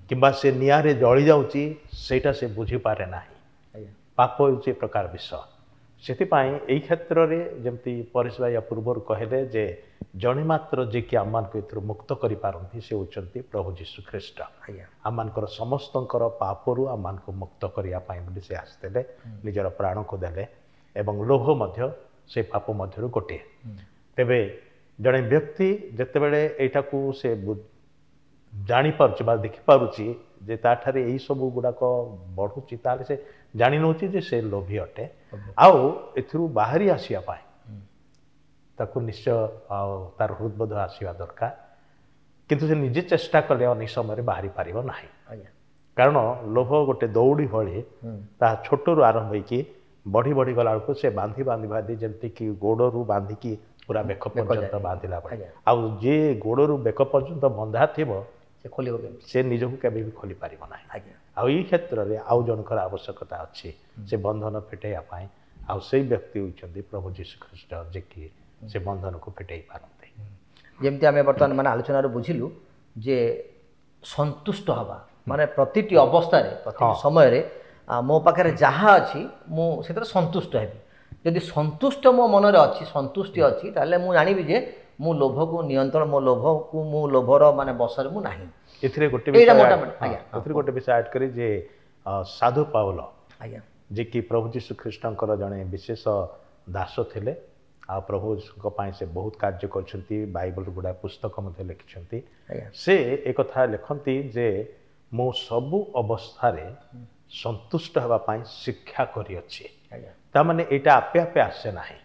କିମ୍ବା ସେ ନିଆଁରେ ଜଳି ଯାଉଛି ସେଇଟା ସେ ବୁଝିପାରେ ନାହିଁ। ପାପ ହେଉଛି ଏ ପ୍ରକାର ବିଷୟ। ସେଥିପାଇଁ ଏଇ କ୍ଷେତ୍ରରେ ଯେମିତି ପରେଶ ଭାଇ ପୂର୍ବରୁ କହିଲେ ଯେ ଜଣେ ମାତ୍ର ଯିଏକି ଆମମାନଙ୍କୁ ଏଥିରୁ ମୁକ୍ତ କରିପାରନ୍ତି ସେ ହେଉଛନ୍ତି ପ୍ରଭୁ ଯୀଶୁ ଖ୍ରୀଷ୍ଟ। ଆମମାନଙ୍କର ସମସ୍ତଙ୍କର ପାପରୁ ଆମମାନଙ୍କୁ ମୁକ୍ତ କରିବା ପାଇଁ ବୋଲି ସେ ଆସିଥିଲେ, ନିଜର ପ୍ରାଣକୁ ଦେଲେ, ଏବଂ ଲୋଭ ମଧ୍ୟ ସେ ପାପ ମଧ୍ୟରୁ ଗୋଟିଏ। ତେବେ ଜଣେ ବ୍ୟକ୍ତି ଯେତେବେଳେ ଏଇଟାକୁ ସେ ଜାଣିପାରୁଛି ବା ଦେଖିପାରୁଛି ଯେ ତାଠାରେ ଏଇସବୁ ଗୁଡ଼ାକ ବଢ଼ୁଛି, ତାହେଲେ ସେ ଜାଣି ନେଉଛି ଯେ ସେ ଲୋଭୀ ଅଟେ, ଆଉ ଏଥିରୁ ବାହାରି ଆସିବା ପାଇଁ ତାକୁ ନିଶ୍ଚୟ ଆଉ ତାର ହୃଦବୋଧ ଆସିବା ଦରକାର। କିନ୍ତୁ ସେ ନିଜେ ଚେଷ୍ଟା କଲେ ଅନେକ ସମୟରେ ବାହାରି ପାରିବ ନାହିଁ। କାରଣ ଲୋଭ ଗୋଟେ ଦଉଡ଼ି ଭଳି, ତାହା ଛୋଟରୁ ଆରମ୍ଭ ହେଇକି ବଢ଼ି ବଢ଼ି ଗଲା ବେଳକୁ ସେ ବାନ୍ଧି ବାନ୍ଧି ବାନ୍ଧି, ଯେମିତିକି ଗୋଡ଼ରୁ ବାନ୍ଧିକି ପୁରା ବେକ ପର୍ଯ୍ୟନ୍ତ ବାନ୍ଧିଲା ଭଳି, ଆଉ ଯିଏ ଗୋଡ଼ରୁ ବେକ ପର୍ଯ୍ୟନ୍ତ ବନ୍ଧା ଥିବ ସେ ଖୋଲିବ, ସେ ନିଜକୁ କେବେ ବି ଖୋଲି ପାରିବ ନାହିଁ। ଆଉ ଏଇ କ୍ଷେତ୍ରରେ ଆଉ ଜଣଙ୍କର ଆବଶ୍ୟକତା ଅଛି ସେ ବନ୍ଧନ ଫିଟେଇବା ପାଇଁ, ଆଉ ସେଇ ବ୍ୟକ୍ତି ହେଉଛନ୍ତି ପ୍ରଭୁ ଯୀଶୁ ଖ୍ରୀଷ୍ଟ, ଯିଏକି ସେ ବନ୍ଧନକୁ ଫିଟେଇ ପାରନ୍ତି। ଯେମିତି ଆମେ ବର୍ତ୍ତମାନ ମାନେ ଆଲୋଚନାରୁ ବୁଝିଲୁ ଯେ ସନ୍ତୁଷ୍ଟ ହେବା ମାନେ ପ୍ରତିଟି ଅବସ୍ଥାରେ, ପ୍ରତିଟି ସମୟରେ ମୋ ପାଖରେ ଯାହା ଅଛି ମୁଁ ସେଥିରେ ସନ୍ତୁଷ୍ଟ ହେବି। ଯଦି ସନ୍ତୁଷ୍ଟ ମୋ ମନରେ ଅଛି, ସନ୍ତୁଷ୍ଟି ଅଛି, ତାହେଲେ ମୁଁ ଜାଣିବି ଯେ ମୁଁ ଲୋଭକୁ ନିୟନ୍ତ୍ରଣ, ମୋ ଲୋଭକୁ ମୁଁ ଲୋଭର ମାନେ ବଶରେ ମୁଁ ନାହିଁ। ଏଥିରେ ଗୋଟେ ଏଥିରେ ଗୋଟେ ବିଷୟ ଆଡ୍ କରି ଯେ ସାଧୁ ପାଉଲ, ଆଜ୍ଞା, ଯିଏକି ପ୍ରଭୁ ଯୀଶୁ ଖ୍ରୀଷ୍ଟଙ୍କର ଜଣେ ବିଶେଷ ଦାସ ଥିଲେ, ଆଉ ପ୍ରଭୁଙ୍କ ପାଇଁ ସେ ବହୁତ କାର୍ଯ୍ୟ କରିଛନ୍ତି, ବାଇବଲ ଗୁଡ଼ାଏ ପୁସ୍ତକ ମଧ୍ୟ ଲେଖିଛନ୍ତି। ସେ ଏକଥା ଲେଖନ୍ତି ଯେ ମୁଁ ସବୁ ଅବସ୍ଥାରେ ସନ୍ତୁଷ୍ଟ ହେବା ପାଇଁ ଶିକ୍ଷା କରିଅଛି। ତାମାନେ ଏଇଟା ଆପେ ଆପେ ଆସେ ନାହିଁ,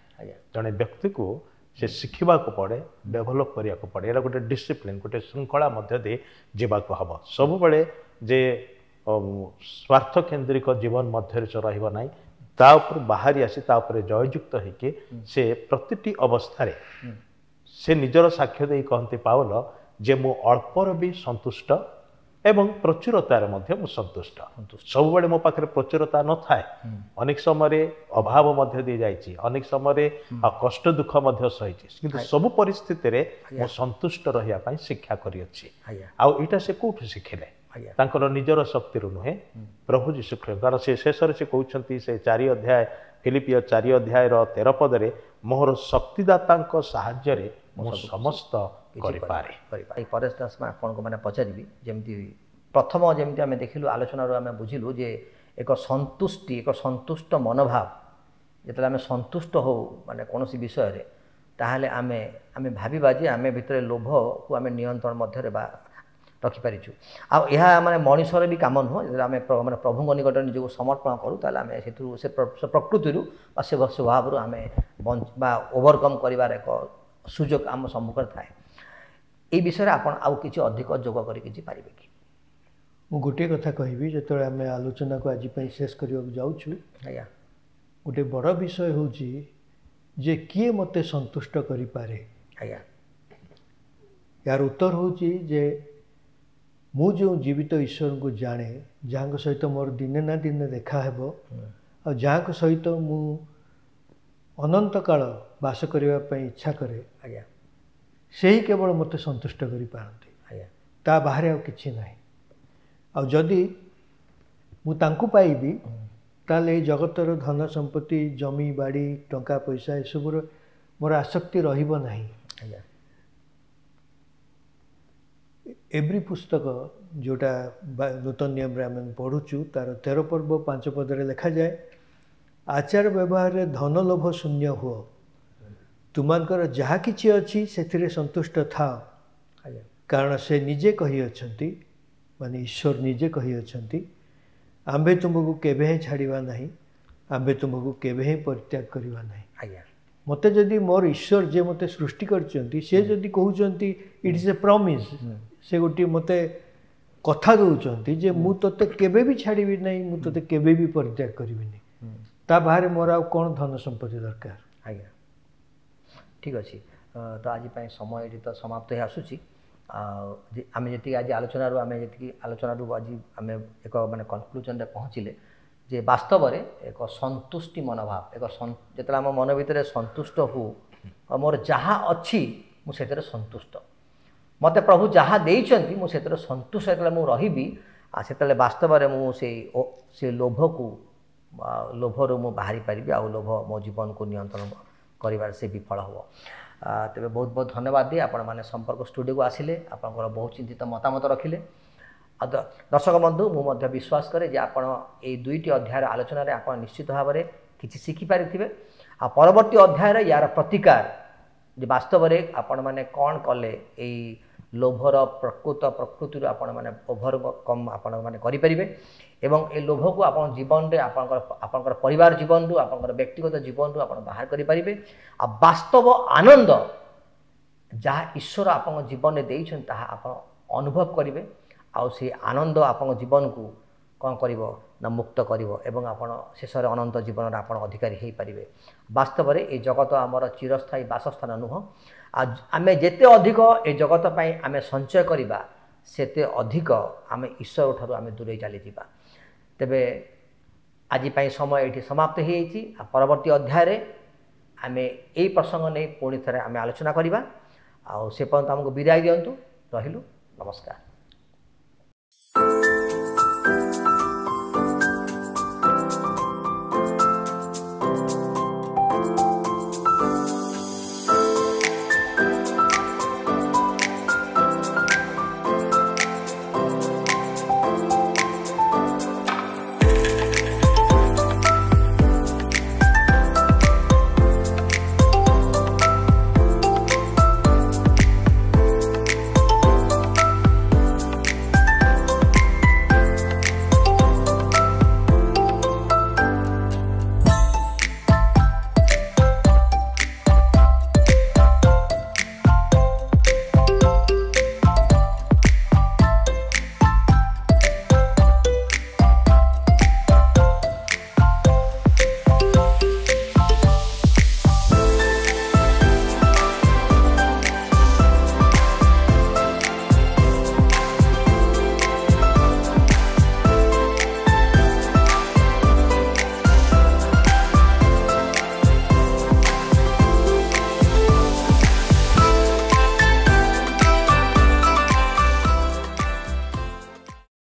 ଜଣେ ବ୍ୟକ୍ତିକୁ ସେ ଶିଖିବାକୁ ପଡ଼େ, ଡେଭଲପ୍ କରିବାକୁ ପଡ଼େ। ଏଇଟା ଗୋଟେ ଡିସିପ୍ଲିନ୍, ଗୋଟେ ଶୃଙ୍ଖଳା ମଧ୍ୟ ଦେଇ ଯିବାକୁ ହେବ। ସବୁବେଳେ ଯେ ସ୍ୱାର୍ଥ କେନ୍ଦ୍ରିକ ଜୀବନ ମଧ୍ୟରେ ସେ ରହିବ ନାହିଁ, ତା ଉପରୁ ବାହାରି ଆସି ତା ଉପରେ ଜୟଯୁକ୍ତ ହେଇକି ସେ ପ୍ରତିଟି ଅବସ୍ଥାରେ ସେ ନିଜର ସାକ୍ଷ୍ୟ ଦେଇ କହନ୍ତି ପାଉଲ ଯେ ମୁଁ ଅଳ୍ପର ବି ସନ୍ତୁଷ୍ଟ ଏବଂ ପ୍ରଚୁରତାରେ ମଧ୍ୟ ମୁଁ ସନ୍ତୁଷ୍ଟ। ସବୁବେଳେ ମୋ ପାଖରେ ପ୍ରଚୁରତା ନଥାଏ, ଅନେକ ସମୟରେ ଅଭାବ ମଧ୍ୟ ଦେଇଯାଇଛି, ଅନେକ ସମୟରେ କଷ୍ଟ ଦୁଃଖ ମଧ୍ୟ ସହିଛି, କିନ୍ତୁ ସବୁ ପରିସ୍ଥିତିରେ ମୁଁ ସନ୍ତୁଷ୍ଟ ରହିବା ପାଇଁ ଶିକ୍ଷା କରିଅଛି। ଆଉ ଏଇଟା ସେ କୋଉଠୁ ଶିଖିଲେ? ତାଙ୍କର ନିଜର ଶକ୍ତିରୁ ନୁହେଁ, ପ୍ରଭୁ ଯୀଶୁ ଖ୍ରୀଷ୍ଟ। କାରଣ ସେ ଶେଷରେ ସେ କହୁଛନ୍ତି, ସେ 4 ଅଧ୍ୟାୟ ଫିଲିପିୟ 4 ଅଧ୍ୟାୟର 13 ପଦରେ, ମୋହର ଶକ୍ତିଦାତାଙ୍କ ସାହାଯ୍ୟରେ ମୁଁ ସମସ୍ତ କରିପାରେ। ଏଇ ପରେଶ ଦାସ, ଆପଣଙ୍କୁ ମାନେ ପଚାରିବି, ଯେମିତି ପ୍ରଥମ ଯେମିତି ଆମେ ଦେଖିଲୁ ଆଲୋଚନାରୁ ଆମେ ବୁଝିଲୁ ଯେ ଏକ ସନ୍ତୁଷ୍ଟି, ଏକ ସନ୍ତୁଷ୍ଟ ମନୋଭାବ, ଯେତେବେଳେ ଆମେ ସନ୍ତୁଷ୍ଟ ହଉ ମାନେ କୌଣସି ବିଷୟରେ, ତାହେଲେ ଆମେ ଆମେ ଭାବିବା ଯେ ଆମେ ଭିତରେ ଲୋଭକୁ ଆମେ ନିୟନ୍ତ୍ରଣ ମଧ୍ୟରେ ବା ରଖିପାରିଛୁ। ଆଉ ଏହା ମାନେ ମଣିଷର ବି କାମ ନୁହଁ। ଯେତେବେଳେ ଆମେ ମାନେ ପ୍ରଭୁଙ୍କ ନିକଟରେ ନିଜକୁ ସମର୍ପଣ କରୁ, ତାହେଲେ ଆମେ ସେଥିରୁ ସେ ପ୍ରକୃତିରୁ ବା ସେ ସ୍ୱଭାବରୁ ଆମେ ବା ଓଭରକମ୍ କରିବାର ଏକ ସୁଯୋଗ ଆମ ସମ୍ମୁଖରେ ଥାଏ। ଏଇ ବିଷୟରେ ଆପଣ ଆଉ କିଛି ଅଧିକ ଯୋଗ କରି କିଛି ପାରିବେ କି? ମୁଁ ଗୋଟିଏ କଥା କହିବି, ଯେତେବେଳେ ଆମେ ଆଲୋଚନାକୁ ଆଜି ପାଇଁ ଶେଷ କରିବାକୁ ଯାଉଛୁ, ଆଜ୍ଞା, ଗୋଟେ ବଡ଼ ବିଷୟ ହେଉଛି ଯେ କିଏ ମୋତେ ସନ୍ତୁଷ୍ଟ କରିପାରେ? ଆଜ୍ଞା, ଏହାର ଉତ୍ତର ହେଉଛି ଯେ ମୁଁ ଯେଉଁ ଜୀବିତ ଈଶ୍ୱରଙ୍କୁ ଜାଣେ, ଯାହାଙ୍କ ସହିତ ମୋର ଦିନେ ନା ଦିନେ ଦେଖା ହେବ, ଆଉ ଯାହାଙ୍କ ସହିତ ମୁଁ ଅନନ୍ତ କାଳ ବାସ କରିବା ପାଇଁ ଇଚ୍ଛା କରେ, ଆଜ୍ଞା, ସେହି କେବଳ ମୋତେ ସନ୍ତୁଷ୍ଟ କରିପାରନ୍ତି। ଆଜ୍ଞା, ତା ବାହାରେ ଆଉ କିଛି ନାହିଁ। ଆଉ ଯଦି ମୁଁ ତାଙ୍କୁ ପାଇବି, ତାହେଲେ ଏଇ ଜଗତର ଧନ ସମ୍ପତ୍ତି, ଜମି ବାଡ଼ି, ଟଙ୍କା ପଇସା ଏସବୁର ମୋର ଆସକ୍ତି ରହିବ ନାହିଁ। ଆଜ୍ଞା, ଏଭ୍ରି ପୁସ୍ତକ ଯେଉଁଟା ନୂତନ ନିୟମରେ ଆମେ ପଢ଼ୁଛୁ, ତାର 13 ପର୍ବ 5 ପଦରେ ଲେଖାଯାଏ, ଆଚାର ବ୍ୟବହାରରେ ଧନ ଲୋଭ ଶୂନ୍ୟ ହୁଅ, ତୁମମାନଙ୍କର ଯାହା କିଛି ଅଛି ସେଥିରେ ସନ୍ତୁଷ୍ଟ ଥାଅ। ଆଜ୍ଞା, କାରଣ ସେ ନିଜେ କହିଅଛନ୍ତି, ମାନେ ଈଶ୍ୱର ନିଜେ କହିଅଛନ୍ତି, ଆମ୍ଭେ ତୁମକୁ କେବେ ହିଁ ଛାଡ଼ିବା ନାହିଁ, ଆମ୍ଭେ ତୁମକୁ କେବେ ହିଁ ପରିତ୍ୟାଗ କରିବା ନାହିଁ। ଆଜ୍ଞା, ମୋତେ ଯଦି ମୋର ଈଶ୍ୱର ଯିଏ ମୋତେ ସୃଷ୍ଟି କରିଛନ୍ତି, ସେ ଯଦି କହୁଛନ୍ତି, ଇଟ୍ is a promise, ସେ ଗୋଟିଏ ମୋତେ କଥା ଦେଉଛନ୍ତି ଯେ ମୁଁ ତୋତେ କେବେ ବି ଛାଡ଼ିବି ନାହିଁ, ମୁଁ ତୋତେ କେବେ ବି ପରିତ୍ୟାଗ କରିବିନି, ତା ବାହାରେ ମୋର ଆଉ କ'ଣ ଧନ ସମ୍ପତ୍ତି ଦରକାର? ଆଜ୍ଞା, ଠିକ୍ ଅଛି। ତ ଆଜି ପାଇଁ ସମୟ ଏଠି ତ ସମାପ୍ତ ହେଇ ଆସୁଛି। ଆଉ ଆମେ ଯେତିକି ଆଜି ଆଲୋଚନାରୁ ଆମେ ଯେତିକି ଆଲୋଚନାରୁ ଆଜି ଆମେ ଏକ ମାନେ କନକ୍ଲୁଜନରେ ପହଞ୍ଚିଲେ ଯେ ବାସ୍ତବରେ ଏକ ସନ୍ତୁଷ୍ଟି ମନୋଭାବ, ଏକ ଯେତେବେଳେ ଆମ ମନ ଭିତରେ ସନ୍ତୁଷ୍ଟ ହଉ, ମୋର ଯାହା ଅଛି ମୁଁ ସେଥିରେ ସନ୍ତୁଷ୍ଟ, ମୋତେ ପ୍ରଭୁ ଯାହା ଦେଇଛନ୍ତି ମୁଁ ସେଥିରେ ସନ୍ତୁଷ୍ଟ ଯେତେବେଳେ ମୁଁ ରହିବି, ଆଉ ସେତେବେଳେ ବାସ୍ତବରେ ମୁଁ ସେଇ ସେ ଲୋଭକୁ ଲୋଭରୁ ମୁଁ ବାହାରି ପାରିବି, ଆଉ ଲୋଭ ମୋ ଜୀବନକୁ ନିୟନ୍ତ୍ରଣ କରିବାରେ ସେ ବିଫଳ ହେବ। ତେବେ ବହୁତ ବହୁତ ଧନ୍ୟବାଦ ଦିଏ ଆପଣମାନେ ସମ୍ପର୍କ ଷ୍ଟୁଡ଼ିଓକୁ ଆସିଲେ, ଆପଣଙ୍କର ବହୁ ଚିନ୍ତିତ ମତାମତ ରଖିଲେ। ଆଉ ଦର୍ଶକ ବନ୍ଧୁ, ମୁଁ ମଧ୍ୟ ବିଶ୍ୱାସ କରେ ଯେ ଆପଣ ଏଇ 2ଟି ଅଧ୍ୟାୟର ଆଲୋଚନାରେ ଆପଣ ନିଶ୍ଚିତ ଭାବରେ କିଛି ଶିଖିପାରିଥିବେ। ଆଉ ପରବର୍ତ୍ତୀ ଅଧ୍ୟାୟରେ ୟାର ପ୍ରତିକାର ଯେ ବାସ୍ତବରେ ଆପଣମାନେ କ'ଣ କଲେ ଏଇ ଲୋଭର ପ୍ରକୃତ ପ୍ରକୃତିରୁ ଆପଣମାନେ ଓଭରକମ୍ ଆପଣମାନେ କରିପାରିବେ, ଏବଂ ଏ ଲୋଭକୁ ଆପଣ ଜୀବନରେ ଆପଣଙ୍କର ଆପଣଙ୍କର ପରିବାର ଜୀବନରୁ, ଆପଣଙ୍କର ବ୍ୟକ୍ତିଗତ ଜୀବନରୁ ଆପଣ ବାହାର କରିପାରିବେ। ଆଉ ବାସ୍ତବ ଆନନ୍ଦ ଯାହା ଈଶ୍ୱର ଆପଣଙ୍କ ଜୀବନରେ ଦେଇଛନ୍ତି ତାହା ଆପଣ ଅନୁଭବ କରିବେ, ଆଉ ସେ ଆନନ୍ଦ ଆପଣଙ୍କ ଜୀବନକୁ କ'ଣ କରିବ ନା ମୁକ୍ତ କରିବ, ଏବଂ ଆପଣ ଶେଷରେ ଅନନ୍ତ ଜୀବନର ଆପଣ ଅଧିକାରୀ ହୋଇପାରିବେ। ବାସ୍ତବରେ ଏ ଜଗତ ଆମର ଚିରସ୍ଥାୟୀ ବାସସ୍ଥାନ ନୁହଁ। ଆଉ ଆମେ ଯେତେ ଅଧିକ ଏ ଜଗତ ପାଇଁ ଆମେ ସଞ୍ଚୟ କରିବା, ସେତେ ଅଧିକ ଆମେ ଈଶ୍ୱର ଠାରୁ ଆମେ ଦୂରେଇ ଚାଲିଯିବା। ତେବେ ଆଜି ପାଇଁ ସମୟ ଏଇଠି ସମାପ୍ତ ହୋଇଯାଇଛି। ଆଉ ପରବର୍ତ୍ତୀ ଅଧ୍ୟାୟରେ ଆମେ ଏଇ ପ୍ରସଙ୍ଗ ନେଇ ପୁଣି ଥରେ ଆମେ ଆଲୋଚନା କରିବା। ଆଉ ସେ ପର୍ଯ୍ୟନ୍ତ ଆମକୁ ବିଦାୟ ଦିଅନ୍ତୁ। ରହିଲୁ, ନମସ୍କାର।